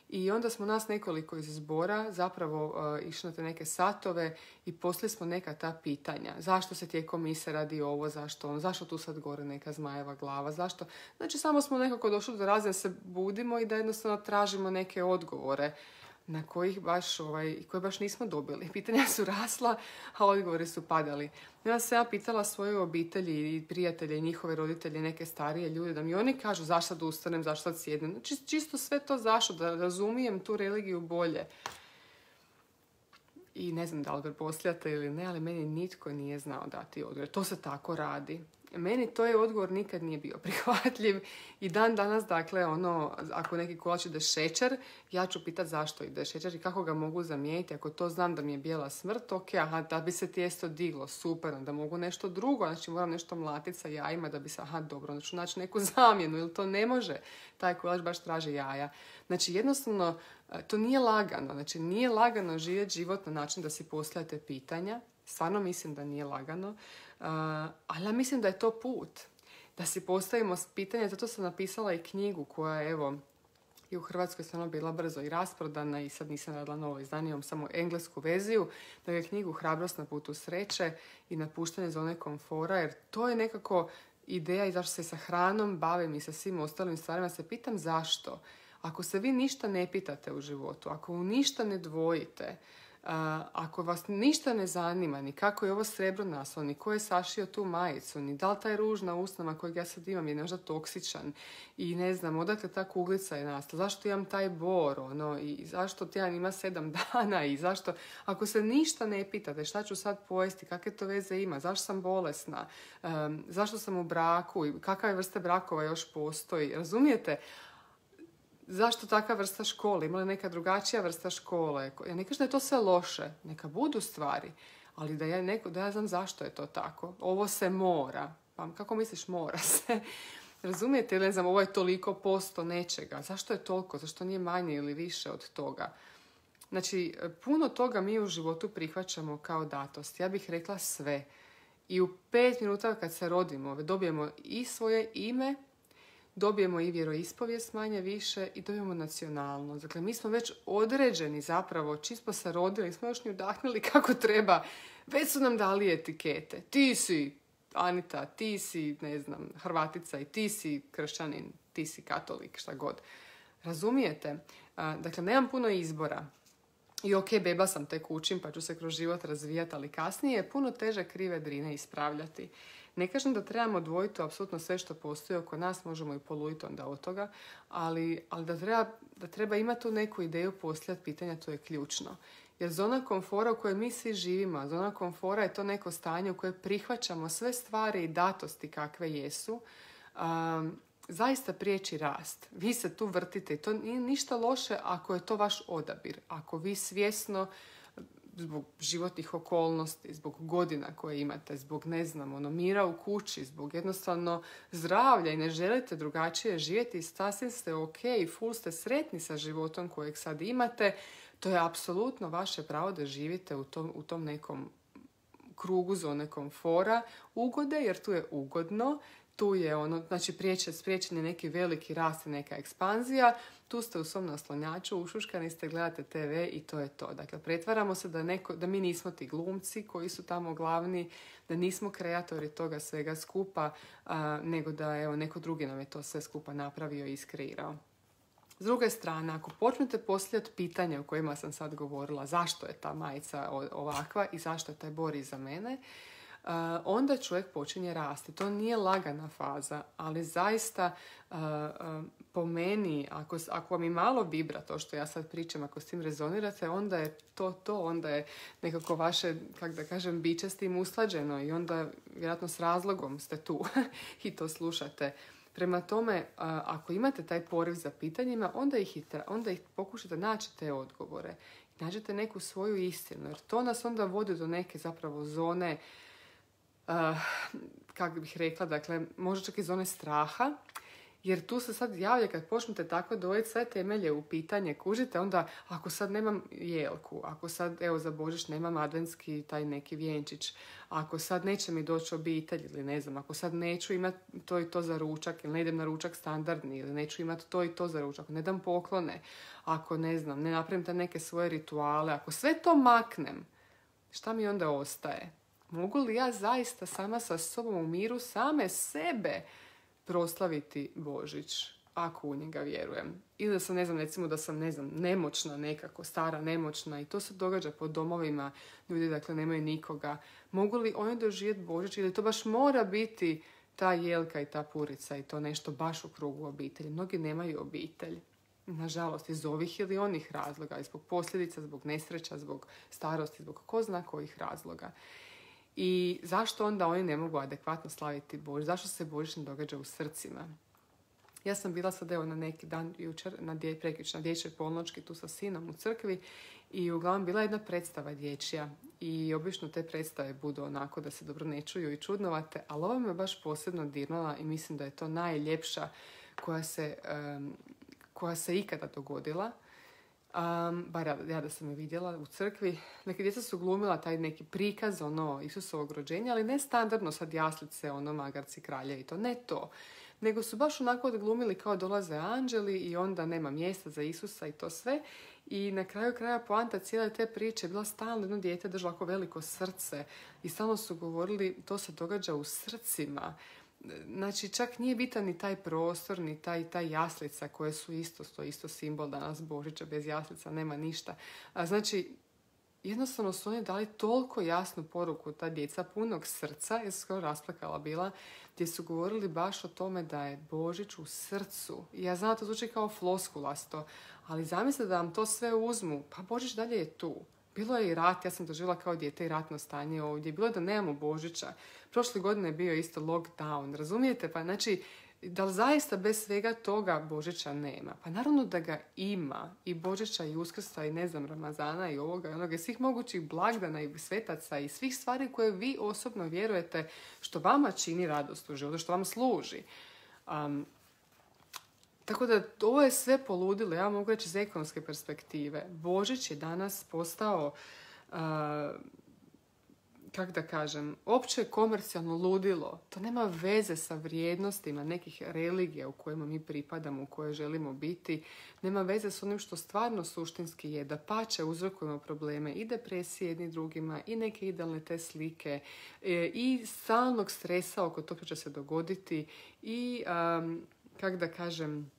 i onda smo nas nekoliko iz zbora zapravo išli na te neke satove i poslali smo neka ta pitanja. Zašto se tijekom mise radi ovo, zašto tu sad gore neka zmajeva glava, zašto? Znači samo smo nekako došli do razine da se budimo i da jednostavno tražimo neke odgovore na koje baš nismo dobili. Pitanja su rasla, a odgovori su padali. Ja sam pitala svoje obitelji i prijatelje i njihove roditelje, neke starije ljude, da mi oni kažu zašto da ustanem, zašto da sjednem. Znači, čisto sve to zašto, da razumijem tu religiju bolje. i ne znam da li pretpostavljate ili ne, ali meni nitko nije znao dati odgovor. To se tako radi. Meni to je odgovor nikad nije bio prihvatljiv i dan danas, dakle, ako neki kolač ide šećer, ja ću pitati zašto ide šećer i kako ga mogu zamijeniti. Ako to znam da mi je bijela smrt, ok, da bi se tijesto diglo, super, onda mogu nešto drugo, znači moram nešto mlatiti sa jajima da bi se, dobro, onda ću naći neku zamjenu, ili to ne može, taj kolač baš traži jaja. Znači, jednostavno, to nije lagano, znači nije lagano živjeti život na način da si postavljate pitanja, stvarno mislim da nije lagano, ali ja mislim da je to put. Da si postavimo pitanje, zato sam napisala i knjigu koja je, evo, i u Hrvatskoj stvarno bila brzo i rasprodana i sad nisam radila novo izdanje, imam samo englesku verziju. Dakle, knjigu Hrabrost na putu sreće i Napuštanje zone komfora, jer to je nekako ideja i zašto se sa hranom bavim i sa svim ostalim stvarima. Se pitam zašto. Ako se vi ništa ne pitate u životu, ako u ništa ne dvojite, ako vas ništa ne zanima, ni kako je ovo srebro nastalo, ni ko je sašio tu majicu, ni da li taj ruž na usnama kojeg ja sad imam je možda toksičan i ne znam, odakle ta kuglica je nastala, zašto imam taj bor, i zašto tjedan ima 7 dana i zašto, ako se ništa ne pitate šta ću sad pojesti, kakve to veze ima, zašto sam bolesna, zašto sam u braku i kakve vrste brakova još postoji, razumijete? Zašto takva vrsta škole? Ima li neka drugačija vrsta škole? Ja ne kažem da je to sve loše. Neka budu stvari. Ali da ja znam zašto je to tako. Ovo se mora. Pa kako misliš mora se? Razumijete? Ili ne znam, ovo je toliko posto nečega. Zašto je toliko? Zašto nije manje ili više od toga? Znači, puno toga mi u životu prihvaćamo kao datost. Ja bih rekla sve. I u 5 minuta kad se rodimo, dobijemo i svoje ime, dobijemo i vjeroispovijest manje više i dobijemo nacionalnost. Dakle, mi smo već određeni zapravo, čisto se rodili, nismo još ni udahnuli kako treba. Već su nam dali etikete. Ti si Anita, ti si, ne znam, Hrvatica i ti si kršćanin, ti si katolik, šta god. Razumijete? Dakle, nemam puno izbora. I ok, beba sam, tek učim pa ću se kroz život razvijati, ali kasnije je puno teže krive drine ispravljati. Ne kažem da trebamo odvojiti apsolutno sve što postoji oko nas, možemo i poluditi onda od toga, ali da treba imati tu neku ideju postavljati pitanja, to je ključno. Jer zona komfora u kojoj mi svi živimo, zona komfora je to neko stanje u kojem prihvaćamo sve stvari i datosti kakve jesu, zaista priječi rast. Vi se tu vrtite i to nije ništa loše ako je to vaš odabir. Ako vi svjesno, zbog životnih okolnosti, zbog godina koje imate, zbog, ne znam, mira u kući, zbog jednostavno zdravlja i ne želite drugačije živjeti, sasvim ste ok, full ste sretni sa životom kojeg sad imate, to je apsolutno vaše pravo da živite u tom nekom krugu zone komfora, ugode, jer tu je ugodno, tu je znači spriječen je neki veliki rast i neka ekspanzija, tu ste u svom naslonjaču, ušuškani ste, gledate TV i to je to. Dakle, pretvaramo se da mi nismo ti glumci koji su tamo glavni, da nismo kreatori toga svega skupa, nego da neko drugi nam je to sve skupa napravio i iskreirao. S druge strane, ako počnete postavljati pitanja o kojima sam sad govorila, zašto je ta majica ovakva i zašto je taj bor iza mene, onda čovjek počinje rasti. To nije lagana faza, ali zaista po meni, ako vam i malo vibra to što ja sad pričam, ako s tim rezonirate, onda je onda je nekako vaše, kako da kažem, biće s tim usklađeno i onda vjerojatno s razlogom ste tu i to slušate. Prema tome, ako imate taj poriv za pitanjima, onda ih pokušate naći te odgovore. Nađete neku svoju istinu, jer to nas onda vodi do neke zapravo zone, kako bih rekla, dakle, možda čak i zone straha, jer tu se sad javlja kad počnete tako dovesti sve temelje u pitanje, kužite, onda ako sad nemam jelku, ako sad, za Božić nemam adventski taj neki vjenčić, ako sad neće mi doći obitelj ili ne znam, ako sad neću imati to i to za ručak ili ne idem na ručak standardni ili neću imati to i to za ručak, ako ne dam poklone, ako ne znam, ne napravim te neke svoje rituale, ako sve to maknem, šta mi onda ostaje? Mogu li ja zaista sama sa sobom u miru same sebe proslaviti Božić, ako u njega vjerujem? Ili da sam, recimo da sam, nemoćna nekako, stara, nemoćna i to se događa po domovima, ljudi, dakle, nemaju nikoga. Mogu li oni doživjeti Božić ili to baš mora biti ta jelka i ta purica i to nešto baš u krugu obitelji? Mnogi nemaju obitelj. nažalost, iz ovih ili onih razloga, zbog posljedica, zbog nesreća, zbog starosti, zbog ko zna kojih razloga. I zašto onda oni ne mogu adekvatno slaviti Božić? Zašto se Božić ne događa u srcima? Ja sam bila sad evo na neki dan jučer, prekjučer na dječjoj polnoćki tu sa sinom u crkvi i uglavnom bila jedna predstava dječja i obično te predstave budu onako da se dobro ne čuju i čudnovate, ali ova me baš posebno dirnula i mislim da je to najljepša koja se ikada dogodila. Bar ja da sam je vidjela u crkvi. Neke djeca su glumila taj neki prikaz Isusovog rođenja, ali ne standardno sad jaslice, magarci, kralje i to, ne to. Nego su baš onako odglumili kao dolaze anđeli i onda nema mjesta za Isusa i to sve. I na kraju kraja poanta cijele te priče je bila stalno jedno dijete držalo ovako veliko srce i stalno su govorili to se događa u srcima. Znači, čak nije bitan ni taj prostor, ni taj jaslica koje su isto simbol danas Božića, bez jaslica nema ništa. Znači, jednostavno su oni dali toliko jasnu poruku, ta djeca punog srca, ja sam skoro rasplakala bila, gdje su govorili baš o tome da je Božić u srcu. I ja znam da to zvuči kao floskulasto, ali zamislite da vam to sve uzmu, pa Božić dalje je tu. Bilo je i rat, ja sam doživjela kao dijete i ratno stanje ovdje. Bilo je da nemamo Božića. Prošle godine je bio isto lockdown, razumijete? Pa znači, da li zaista bez svega toga Božića nema? Pa naravno da ga ima. I Božića i Uskrsa i ne znam, Ramazana i ovoga i onoga i svih mogućih blagdana i svetaca i svih stvari koje vi osobno vjerujete što vama čini radost u životu, što vam služi. Tako da ovo je sve poludilo, ja mogu reći iz ekonomske perspektive. Božić je danas postao, kako da kažem, opće komercijalno ludilo. To nema veze sa vrijednostima nekih religija u kojima mi pripadamo, u koje želimo biti. Nema veze s onim što stvarno suštinski je. Dapače, uzrokujemo probleme i depresije jedni drugima i neke idealne te slike i stalnog stresa oko toga što će se dogoditi i, kako da kažem,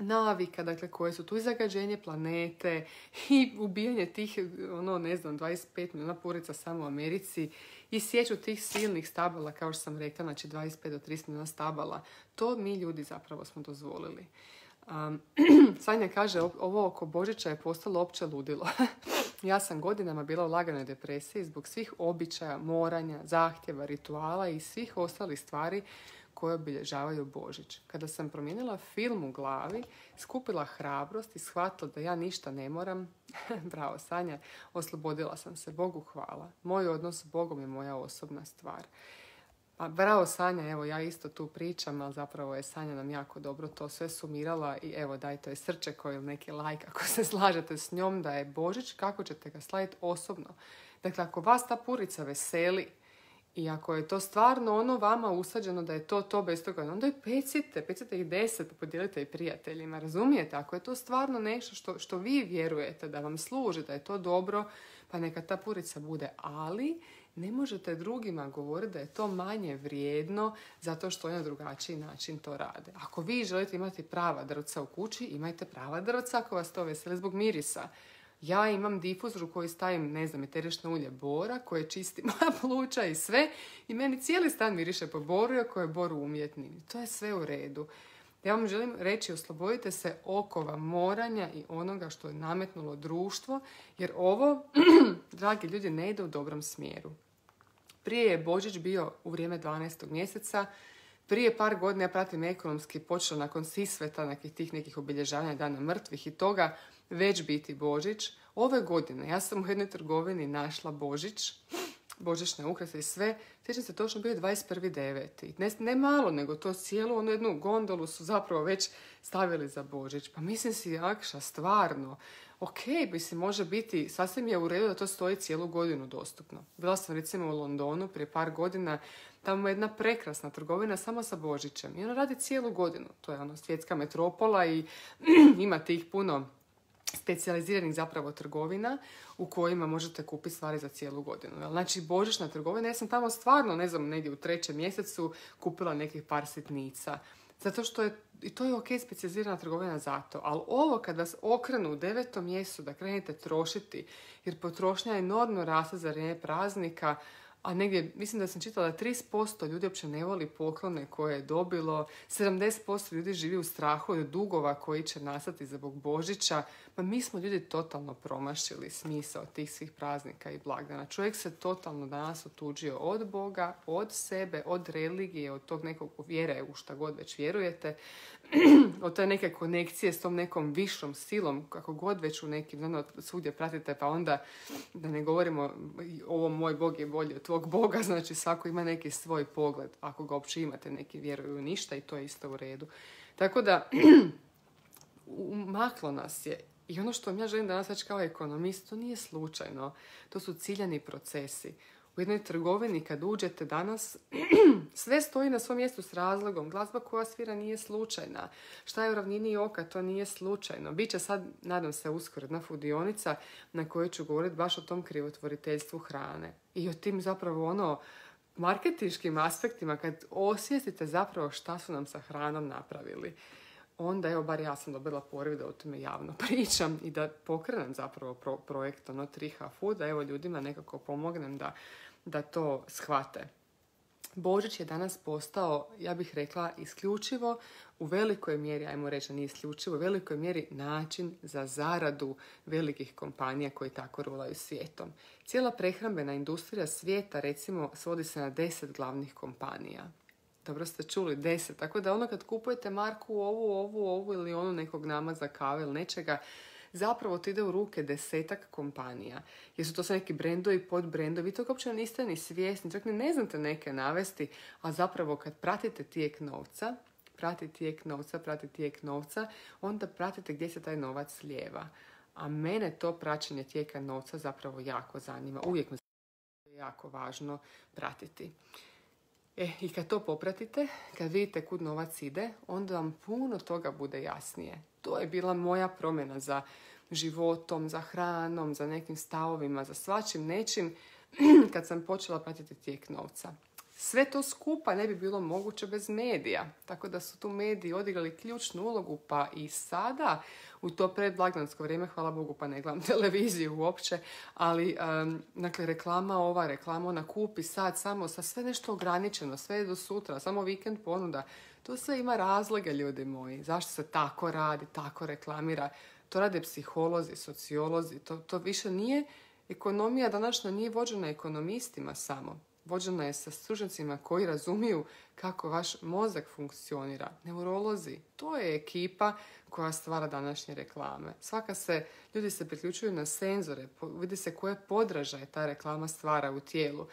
navika, dakle, koje su tu i zagađenje planete i ubijanje tih, 25 milijuna purica samo u Americi i sjeću tih silnih stabala, kao što sam rekla, znači 25 do 30 milijuna stabala. To mi ljudi zapravo smo dozvolili. Sanja kaže, ovo oko Božića je postalo opće ludilo. Ja sam godinama bila u laganoj depresiji zbog svih običaja, moranja, zahtjeva, rituala i svih ostalih stvari koje obilježavaju Božić. Kada sam promijenila film u glavi, skupila hrabrost i shvatila da ja ništa ne moram, bravo Sanja, oslobodila sam se, Bogu hvala. Moj odnos s Bogom je moja osobna stvar. Pa bravo Sanja, evo ja isto tu pričam, ali zapravo je Sanja nam jako dobro to sve sumirala i evo dajte joj srčeko ili neki like ako se slažete s njom da je Božić, kako ćete ga slaviti osobno. Dakle, ako vas ta purica veseli, i ako je to stvarno vama usađeno da je to bez toga, onda i pecite ih 10, pa podijelite i prijateljima, razumijete? Ako je to stvarno nešto što vi vjerujete da vam služi, da je to dobro, pa neka ta purica bude, ali ne možete drugima govoriti da je to manje vrijedno zato što oni na drugačiji način to rade. Ako vi želite imati prava drvca u kući, imajte prava drvca ako vas to veseli zbog mirisa. Ja imam difuzor u koji stavim, eterično ulje bora koje čisti moja pluća i sve i meni cijeli stan miriše po boru iako je bor umjetni. To je sve u redu. Ja vam želim reći, oslobodite se okova moranja i onoga što je nametnulo društvo, jer ovo, dragi ljudi, ne ide u dobrom smjeru. Prije je Božić bio u vrijeme 12. mjeseca, prije par godina, ja pratim ekonomski, počela nakon Sisveta, tih nekih obilježavanja Dana mrtvih i toga, već biti Božić. Ove godine ja sam u jednoj trgovini našla Božić, božićne ukrase i sve. Sjećam se, točno bio 21.9. Ne malo, nego to cijelu jednu gondolu su zapravo već stavili za Božić. Pa mislim si, Akša, stvarno, može biti, sasvim je u redu da to stoji cijelu godinu dostupno. Bila sam recimo u Londonu prije par godina, tamo je jedna prekrasna trgovina samo sa Božićem. I ona radi cijelu godinu. To je svjetska metropola i ima tih puno specijaliziranih zapravo trgovina u kojima možete kupiti stvari za cijelu godinu. Znači, božićna trgovina, ja sam tamo stvarno, negdje u 3. mjesecu kupila nekih par sitnica. Zato što je, i to je ok, specijalizirana trgovina za to. Ali ovo kad vas okrenu u 9. mjesecu da krenete trošiti, jer potrošnja enormno raste za vrijeme praznika, a negdje, mislim da sam čitala, 30% ljudi uopće ne voli poklone koje je dobilo, 70% ljudi živi u strahu od dugova koji će nastati zbog Božića. Pa mi smo ljudi totalno promašili smisao tih svih praznika i blagdana. Čovjek se totalno danas otuđio od Boga, od sebe, od religije, od tog nekog vjere u šta god već vjerujete, od te neke konekcije s tom nekom višom silom, kako god već u nekim, svugdje pratite, pa onda, da ne govorimo, ovo moj Bog je bolji od tvog Boga, znači svako ima neki svoj pogled, ako ga uopće imate, neki vjeruju u ništa i to je isto u redu. Tako da, umaklo nas je. I ono što ja želim danas reći kao ekonomist, to nije slučajno, to su ciljani procesi. U jednoj trgovini kad uđete danas, sve stoji na svom mjestu s razlogom. Glazba koja svira nije slučajna. Šta je u ravnini oka, to nije slučajno. Biće sad, nadam se, uskoro jedna fudionica na kojoj ću govoriti baš o tom krivotvoriteljstvu hrane. I o tim zapravo marketinškim aspektima kad osvijestite zapravo šta su nam sa hranom napravili. Onda, evo, bar ja sam dobila poriv da o tome javno pričam i da pokrenem zapravo projekt 3H Food, da evo ljudima nekako pomognem da to shvate. Božić je danas postao, ja bih rekla, isključivo u velikoj mjeri, ajmo reći nije isključivo, u velikoj mjeri način za zaradu velikih kompanija koji tako rulaju svijetom. Cijela prehrambena industrija svijeta, recimo, svodi se na 10 glavnih kompanija. Dobro ste čuli, 10. Tako da kad kupujete marku ovu ili onu nekog nama za kave ili nečega, zapravo to ide u ruke 10 kompanija. Jer su to sve neki brendovi, podbrendovi, vi to uopće niste ni svjesni, čak ne znate neke navesti, a zapravo kad pratite tijek novca, onda pratite gdje se taj novac slijeva. A mene to praćenje tijeka novca zapravo jako zanima. Uvijek me jako važno pratiti. I kad to popratite, kad vidite kud novac ide, onda vam puno toga bude jasnije. To je bila moja promjena za životom, za hranom, za nekim stavovima, za svačim nečim kad sam počela pratiti tijek novca. Sve to skupa ne bi bilo moguće bez medija, tako da su tu mediji odigrali ključnu ulogu, pa i sada u to predblagdansko vrijeme, hvala Bogu, pa ne gledam televiziju uopće, ali dakle, reklama ona, kupi sad samo sa sve nešto ograničeno, sve je do sutra, samo vikend ponuda. To sve ima razloge, ljudi moji. Zašto se tako radi, tako reklamira? To rade psiholozi, sociolozi, to više nije, ekonomija današnja nije vođena ekonomistima samo. Vođena je sa stručnjacima koji razumiju kako vaš mozak funkcionira. Neurolozi, to je ekipa koja stvara današnje reklame. Ljudi se priključuju na senzore, vidi se koje podražaje ta reklama stvara u tijelu.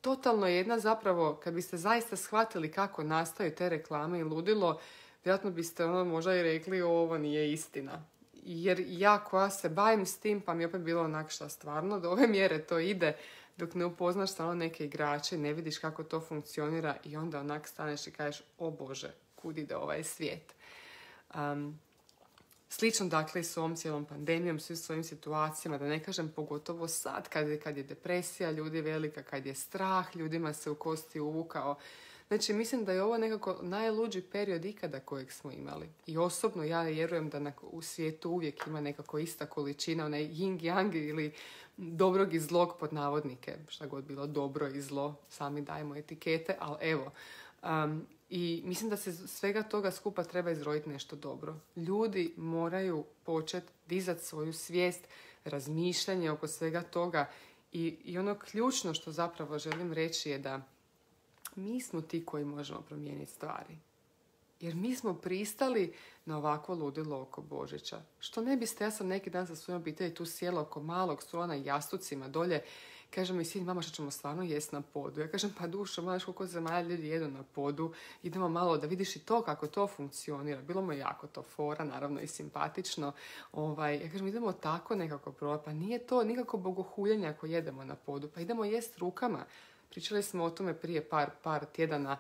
Totalno je jedna zapravo, kad biste zaista shvatili kako nastaju te reklame i ludilo, vjerojatno biste možda i rekli ovo nije istina. Jer ja koja se bavim s tim, pa mi je opet bilo onak šta stvarno, do ove mjere to ide, dok ne upoznaš stvarno neke igrače, ne vidiš kako to funkcionira i onda onak staneš i kažeš, o Bože, kud ide ovaj svijet. Slično dakle i s ovom cijelom pandemijom, svim svojim situacijama, da ne kažem pogotovo sad kad je depresija ljudi velika, kad je strah, ljudima se u kosti uvukao. Znači, mislim da je ovo nekako najluđi period ikada kojeg smo imali. I osobno ja vjerujem da u svijetu uvijek ima nekako ista količina, onaj yin-yang ili dobrog i zlog pod navodnike. Šta god bilo dobro i zlo, sami dajemo etikete, ali evo. I mislim da se svega toga skupa treba izroditi nešto dobro. Ljudi moraju početi dizati svoju svijest, razmišljanje oko svega toga. I ono ključno što zapravo želim reći je da mi smo ti koji možemo promijeniti stvari. Jer mi smo pristali na ovakvo ludilo oko Božića. Što ne biste, ja sam neki dan sa svojom obitelji tu sjela oko malog stola na jastucima dolje. Kaže mi sin, mama, što ćemo stvarno jesti na podu? Ja kažem, pa dušo, znaš koliko zemalja ljudi jedu na podu. Idemo malo da vidiš i to kako to funkcionira. Bilo mu je jako to fora, naravno i simpatično. Ja kažem, idemo tako nekako probati. Pa nije to nikako bogohuljenje ako jedemo na podu. Pa idemo jesti rukama. Pričali smo o tome prije par tjedana.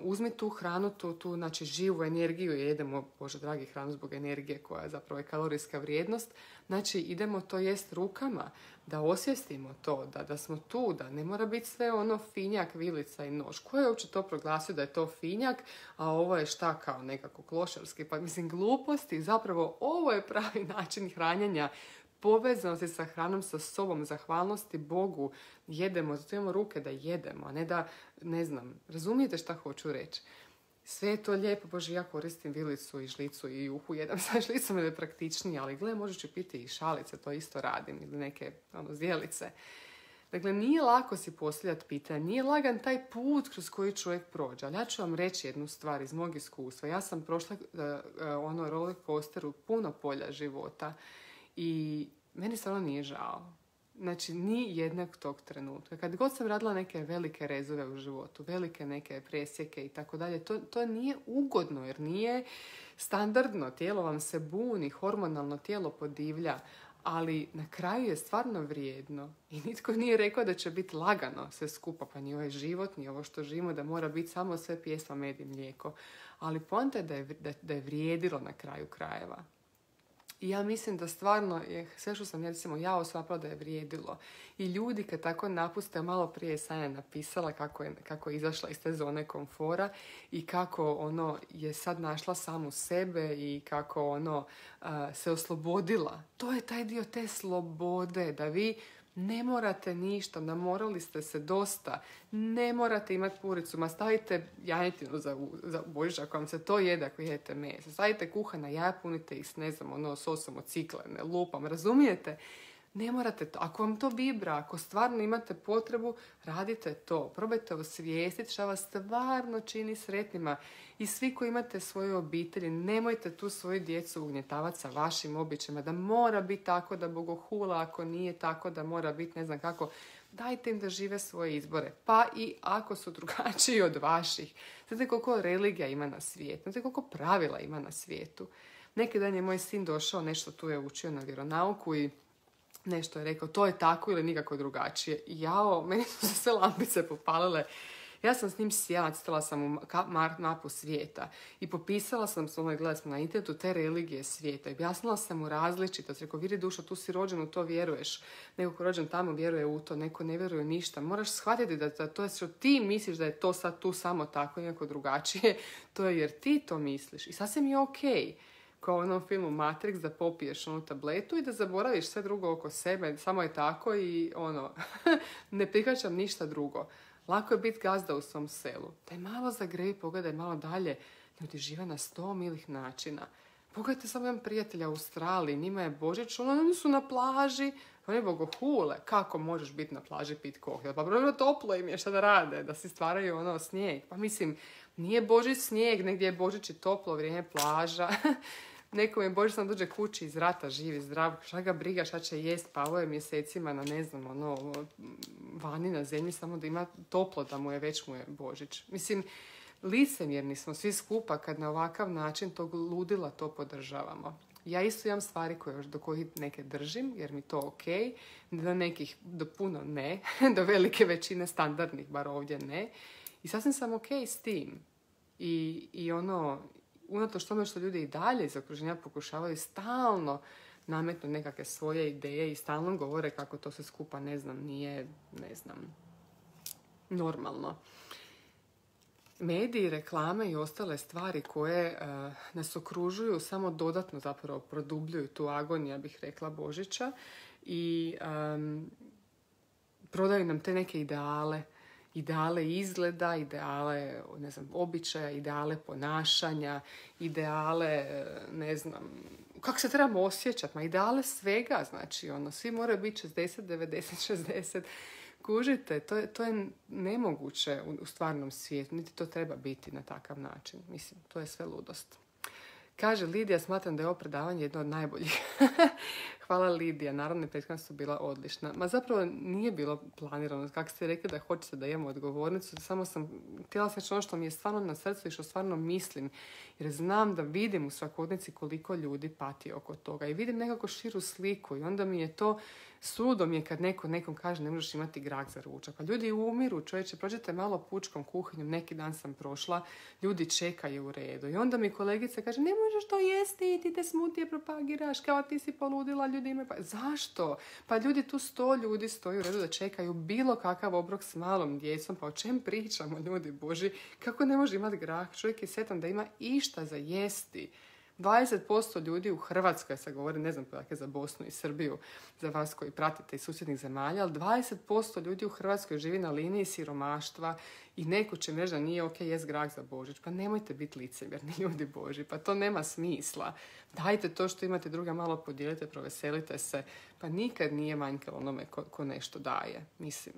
Uzmi tu hranu, tu znači živu energiju i jedemo, Bože dragi, hranu zbog energije koja je zapravo kalorijska vrijednost. Znači idemo to jest rukama, da osvijestimo to, da smo tu, da ne mora biti sve finjak, vilica i nož. Ko je uopće to proglasio da je to finjak, a ovo je šta kao nekako klošarski? Pa mislim gluposti, zapravo ovo je pravi način hranjenja povezanosti sa hranom, sa sobom, zahvalnosti Bogu, jedemo, zato imamo ruke da jedemo, a ne da, ne znam, razumijete šta hoću reći? Sve je to lijepo, Bože, ja koristim vilicu i žlicu i juhu jedam sa žlicom, je praktičnije, ali gle, možeš ću piti i šalice, to isto radim, ili neke zdjelice. Dakle, nije lako si postavljati pitanje, nije lagan taj put kroz koji čovjek prođe. Ali ja ću vam reći jednu stvar iz mog iskustva. Ja sam prošla roller coasteru puno polja života i meni stvarno nije žao. Znači, ni jednog tog trenutka. Kad god sam radila neke velike rezove u životu, velike neke presjeke i tako dalje, to nije ugodno jer nije standardno. Tijelo vam se buni, hormonalno tijelo podivlja, ali na kraju je stvarno vrijedno. I nitko nije rekao da će biti lagano sve skupa, pa ni ovaj život, ni ovo što živimo, da mora biti samo sve pjesma, med i mlijeko. Ali poanta je da je vrijedilo na kraju krajeva. I ja mislim da stvarno je sve što sam ja osvapala da je vrijedilo. I ljudi kad tako napuste, malo prije je Sanja napisala kako je izašla iz te zone komfora i kako je sad našla samu sebe i kako se oslobodila. To je taj dio te slobode, da vi ne morate ništa, namorali ste se dosta, ne morate imati puricu, ma stavite janjetinu za Božić ako vam se to jede, ako jedete meso, stavite kuhana jaja, punite ih s, sosom od ciklene, lupam, razumijete? Ne morate to. Ako vam to vibra, ako stvarno imate potrebu, radite to. Probajte osvijestiti šta vas stvarno čini sretnima. I svi koji imate svoje obitelji, nemojte tu svoju djecu ugnjetavati sa vašim običajima. Da mora biti tako, da bogohula, ako nije tako, da mora biti ne znam kako. Dajte im da žive svoje izbore. Pa i ako su drugačiji od vaših. Znate koliko religija ima na svijetu. Znate koliko pravila ima na svijetu. Neki dan je moj sin došao, nešto tu je učio na vjeronauku i nešto je rekao, to je tako ili nikako drugačije. Meni su se sve lampice popalile. Ja sam s njim sjela, citala sam mu mapu svijeta i popisala sam s gledali smo na internetu te religije svijeta. I objasnila sam mu različitost. Rekao, vidi dušo, tu si rođen, u to vjeruješ. Neko ko rođen tamo vjeruje u to, neko ne vjeruje ništa. Moraš shvatiti da to je što ti misliš da je to sad tu samo tako, nekako drugačije. To je jer ti to misliš. I sasvim je okej. Kao u onom filmu Matrix, da popiješ onu tabletu i da zaboraviš sve drugo oko sebe, samo je tako i ne prihvaćam ništa drugo. Lako je biti gazda u svom selu. Daj malo zagrevi, pogledaj malo dalje. Ljudi žive na 100 milih načina. Pogledajte samo jedan prijatelja u Australiji, njima je Božić, oni su na plaži, oni bogohule. Kako možeš biti na plaži pit koktel? Pa brojno toplo im je, šta da rade, da si stvaraju snijeg. Pa mislim, nije Božić snijeg, negdje je Božić i toplo, vrijeme plaža. Nekom je Božić sam dođe kući iz rata, živi, zdrav, šta ga briga, šta će jest, pavao je mjesecima na vani na zemlji, samo da ima toplo, da već mu je Božić. Mislim, licemjerni smo svi skupa kad na ovakav način tog ludila to podržavamo. Ja isto imam stvari do kojih neke držim, jer mi to okej, do nekih, do puno ne, do velike većine standardnih, bar ovdje ne. I sasvim sam okej s tim. I unatoč tome što ljudi i dalje iz okruženja pokušavaju stalno nametnuti nekakve svoje ideje i stalno govore kako to sve skupa, nije, normalno. Mediji, reklame i ostale stvari koje nas okružuju samo dodatno zapravo produbljuju tu agoniju, ja bih rekla, Božića i prodaju nam te neke ideale izgleda, ideale, običaja, ideale ponašanja, ideale, kako se trebamo osjećati, ideale svega, znači, svi moraju biti 60, 90, 60. Kužite, to je nemoguće u stvarnom svijetu, niti to treba biti na takav način. Mislim, to je sve ludost. Kaže Lidija, smatram da je ovo predavanje jedno od najboljih. Hvala Lidija, naravno prethodna su bila odlična. Ma zapravo nije bilo planirano, kako ste rekli da hoćete da imamo odgovornicu, samo sam htjela reći ono što mi je stvarno na srcu i što stvarno mislim, jer znam da vidim u svakodnevnici koliko ljudi pati oko toga i vidim nekako širu sliku i onda mi je to suludo mi je kad nekom kaže ne možeš imati grah za ručak. Pa ljudi umiru, čovječe, prođete malo pučkom kuhinjom, neki dan sam prošla, ljudi čekaju u redu. I onda mi kolegica kaže ne možeš to jesti, ti te smutije propagiraš, kao ti si poludila, ljudi imaju... Pa zašto? Pa ljudi tu 100 ljudi stoji u redu da čekaju bilo kakav obrok s malom djecom, pa o čem pričamo, ljudi Boži? Kako ne može imati grah? Čovjek je sretan da ima išta za jesti. 20% ljudi u Hrvatskoj, se govori, ne znam podatke za Bosnu i Srbiju, za vas koji pratite iz susjednih zemalja, ali 20% ljudi u Hrvatskoj živi na liniji siromaštva i neko će reći da nije ok jest grah za Božić. Pa nemojte biti licemjerni, ljudi Božji, pa to nema smisla. Dajte to što imate druga, malo podijelite, proveselite se. Pa nikad nije manjkalo onome ko nešto daje, mislim.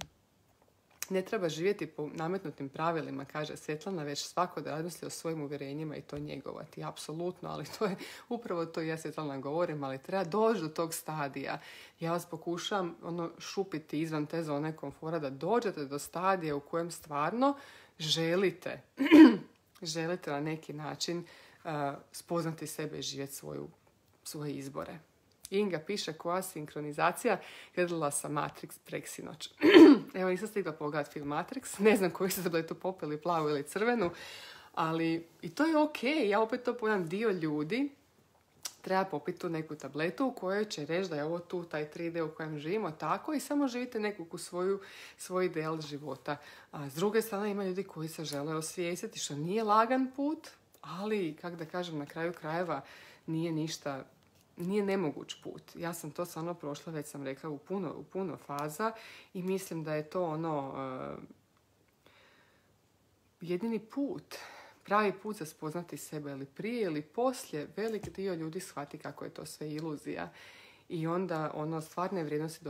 Ne treba živjeti po nametnutim pravilima, kaže Svjetlana, već svako da razmisli o svojim uvjerenjima i to njegovati. Apsolutno, ali to je upravo to ja Svjetlana govorim, ali treba doći do tog stadija. Ja vas pokušam šupiti izvan te zone komfora da dođete do stadija u kojem stvarno želite na neki način spoznati sebe i živjeti svoje izbore. Inga piše koja sinkronizacija, gledala sam Matrix preksinoć. Evo, nisam stigla pogledati film Matrix, ne znam koji ste da je tu popili, plavu ili crvenu, ali i to je ok, ja opet to pojam, dio ljudi treba popiti tu neku tabletu u kojoj će reći da je ovo tu taj 3D u kojem živimo tako i samo živite neku svoj ideal života. A s druge strane ima ljudi koji se žele osvijestiti, što nije lagan put, ali, kako da kažem, na kraju krajeva nije nemoguć put. Ja sam to stvarno prošla, već sam rekla, u puno faza i mislim da je to jedini put, pravi put za spoznati sebe, ili prije ili poslije velik dio ljudi shvati kako je to sve iluzija i onda stvarne vrijednosti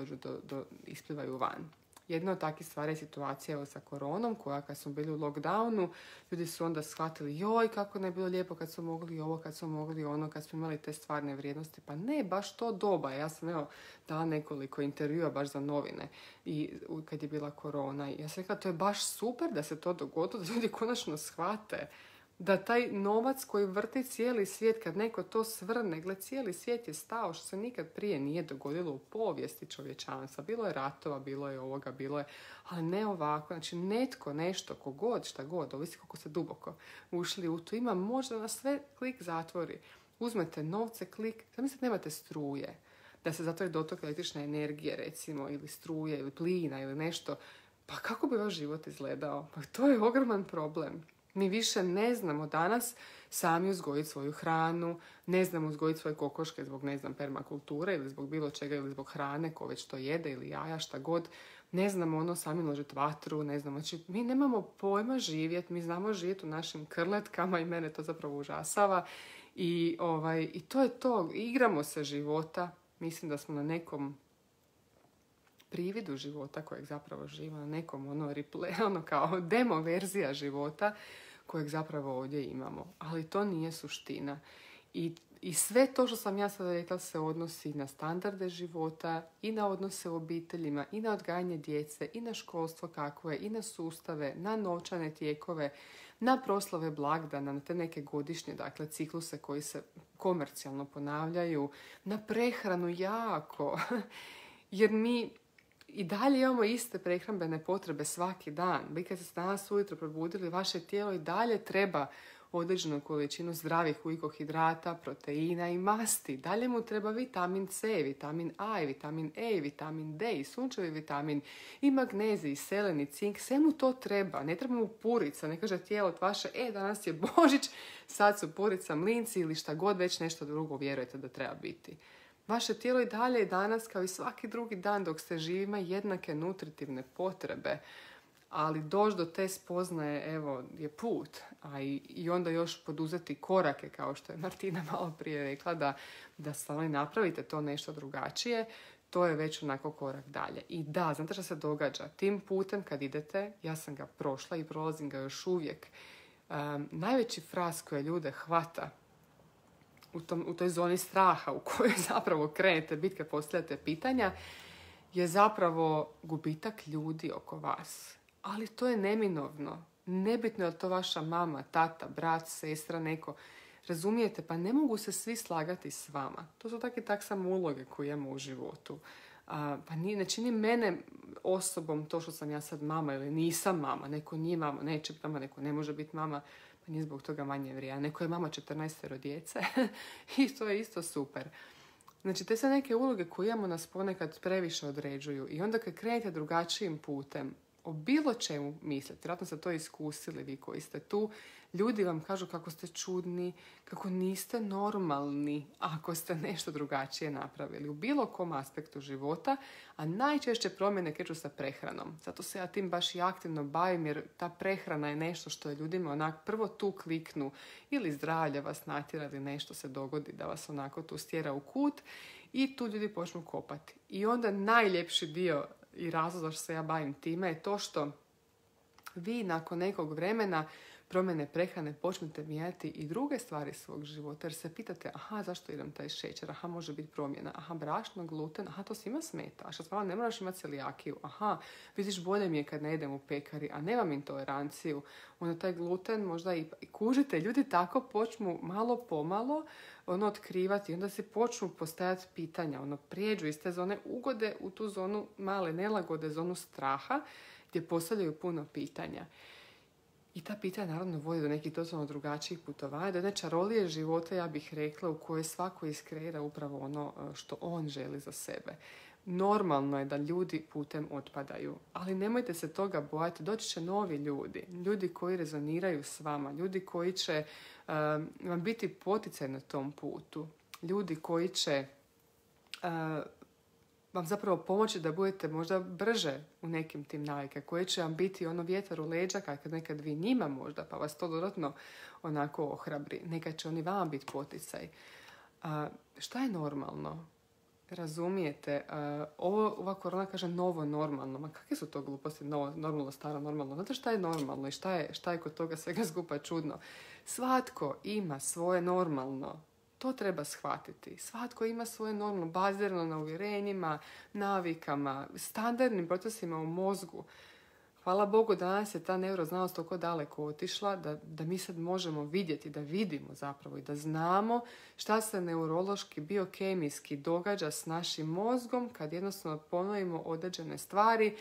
isplivaju van. Jedna od takvih stvari je situacija sa koronom, koja kad smo bili u lockdownu, ljudi su onda shvatili, joj, kako ne bilo lijepo kad smo mogli ovo, kad smo mogli ono, kad smo imali te stvarne vrijednosti. Pa ne, baš to doba. Ja sam dala nekoliko intervjua baš za novine i kad je bila korona. Ja sam rekla, to je baš super da se to dogodilo, da ljudi konačno shvate da taj novac koji vrti cijeli svijet, kad neko to svrne, gled, cijeli svijet je stao, što se nikad prije nije dogodilo u povijesti čovječanstva. Bilo je ratova, bilo je ovoga, bilo je, ali ne ovako. Znači, netko, nešto, kogod, šta god, ovisi koliko se duboko ušli u to, ima možda na sve klik zatvori. Uzmete novce, klik, zamislite nemate struje, da se zatvori dotok električne energije, recimo, ili struje, ili plina, ili nešto. Pa kako bi vaš život izgledao? Pa to je ogroman problem. Mi više ne znamo danas sami uzgojiti svoju hranu, ne znamo uzgojiti svoje kokoške zbog, permakulture ili zbog bilo čega ili zbog hrane ko već to jede ili jaja, šta god. Ne znamo sami ložiti vatru, ne znamo. Znači, mi nemamo pojma živjeti, mi znamo živjeti u našim krletkama i mene to zapravo užasava. I to je to, igramo se života, mislim da smo na nekom prividu života kojeg zapravo živimo, na nekom replay, kao demo verzija života kojeg zapravo ovdje imamo. Ali to nije suština. I sve to što sam ja sada rekla se odnosi na standarde života i na odnose u obiteljima i na odgajanje djece i na školstvo kakvo je i na sustave, na novčane tijekove, na proslave blagdana, na te neke godišnje, dakle, cikluse koji se komercijalno ponavljaju, na prehranu jako. Jer mi i dalje imamo iste prehrambene potrebe svaki dan. Vi kad ste danas ujutro probudili, vaše tijelo i dalje treba određenu količinu zdravih ugljikohidrata, proteina i masti. Dalje mu treba vitamin C, vitamin A, vitamin E, vitamin D, i sunčevi vitamin, i magnezij, i selen, i cink. Sve mu to treba. Ne treba mu purica. Ne kaže tijelo vaše, danas je Božić, sad su purica, mlinci ili šta god, već nešto drugo vjerujete da treba biti. Vaše tijelo i dalje danas, kao i svaki drugi dan dok ste živi, ima jednake nutritivne potrebe. Ali doći do te spoznaje, je put. A i onda još poduzeti korake, kao što je Martina malo prije rekla, da stvarno napravite to nešto drugačije, to je već onako korak dalje. I da, znate što se događa? Tim putem kad idete, ja sam ga prošla i prolazim ga još uvijek, najveći fras koje ljude hvata u toj zoni straha u kojoj zapravo krenete biti kad postavljate pitanja, je zapravo gubitak ljudi oko vas. Ali to je neminovno. Nebitno je li to vaša mama, tata, brat, sestra, neko. Razumijete? Pa ne mogu se svi slagati s vama. To su tak samo uloge koje imamo u životu. Pa ne čini mene osobom to što sam ja sad mama ili nisam mama. Neko nije mama, neće biti mama, neko ne može biti mama. Pa nije zbog toga manje vrijedna. Neko je mama 14 djece i to je isto super. Znači, te sve neke uloge koje imamo nas ponekad previše određuju. I onda kad krenete drugačijim putem, o bilo čemu mislite. Vjerojatno ste to iskusili vi koji ste tu. Ljudi vam kažu kako ste čudni, kako niste normalni ako ste nešto drugačije napravili u bilo kom aspektu života, a najčešće promjene kreću sa prehranom. Zato se ja tim baš i aktivno bavim, jer ta prehrana je nešto što je ljudima onak prvo tu kliknu ili zdravlje vas natjera ili nešto se dogodi da vas onako tu stjera u kut i tu ljudi počnu kopati. I onda najljepši dio i razlog zašto se ja bavim time je to što vi nakon nekog vremena promjene prehrane počnete mijenjati i druge stvari svog života, jer se pitate, aha, zašto idem taj šećer, aha, može biti promjena, aha, brašno, gluten, aha, to svima smeta, a što stvarno ne moraš imati celijakiju, aha, vidiš, bolje mi je kad ne idem u pekari, a nemam intoleranciju, onda taj gluten možda i kužite, ljudi tako počnu malo pomalo otkrivati, onda se počnu postavljati pitanja, prijeđu iz te zone ugode u tu zonu male nelagode, zonu straha, gdje postavljaju puno pitanja. I ta pitanja naravno vodi do nekih totalno drugačijih putovanja, do jedne čarolije života, ja bih rekla, u kojoj svako iskreira upravo ono što on želi za sebe. Normalno je da ljudi putem otpadaju, ali nemojte se toga bojati, doći će novi ljudi, ljudi koji rezoniraju s vama, ljudi koji će vam biti poticaj na tom putu, ljudi koji će vam zapravo pomoći da budete možda brže u nekim tim navike, koji će vam biti vjetar u leđa kad nekad vi njima možda, pa vas to dodatno onako ohrabri. Nekad će oni vama biti poticaj. Šta je normalno? Razumijete? Ova korona kaže novo normalno. Ma kakve su to gluposti? Novo normalno, staro normalno. Znate šta je normalno i šta je kod toga svega skupa čudno? Svatko ima svoje normalno. To treba shvatiti. Svatko ima svoje normalno, bazirano na uvjerenjima, navikama, standardnim procesima u mozgu. Hvala Bogu, danas je ta neuroznanost toliko daleko otišla da mi sad možemo vidjeti, da vidimo zapravo i da znamo šta se neurološki, biokemijski događa s našim mozgom kad jednostavno ponovimo određene stvari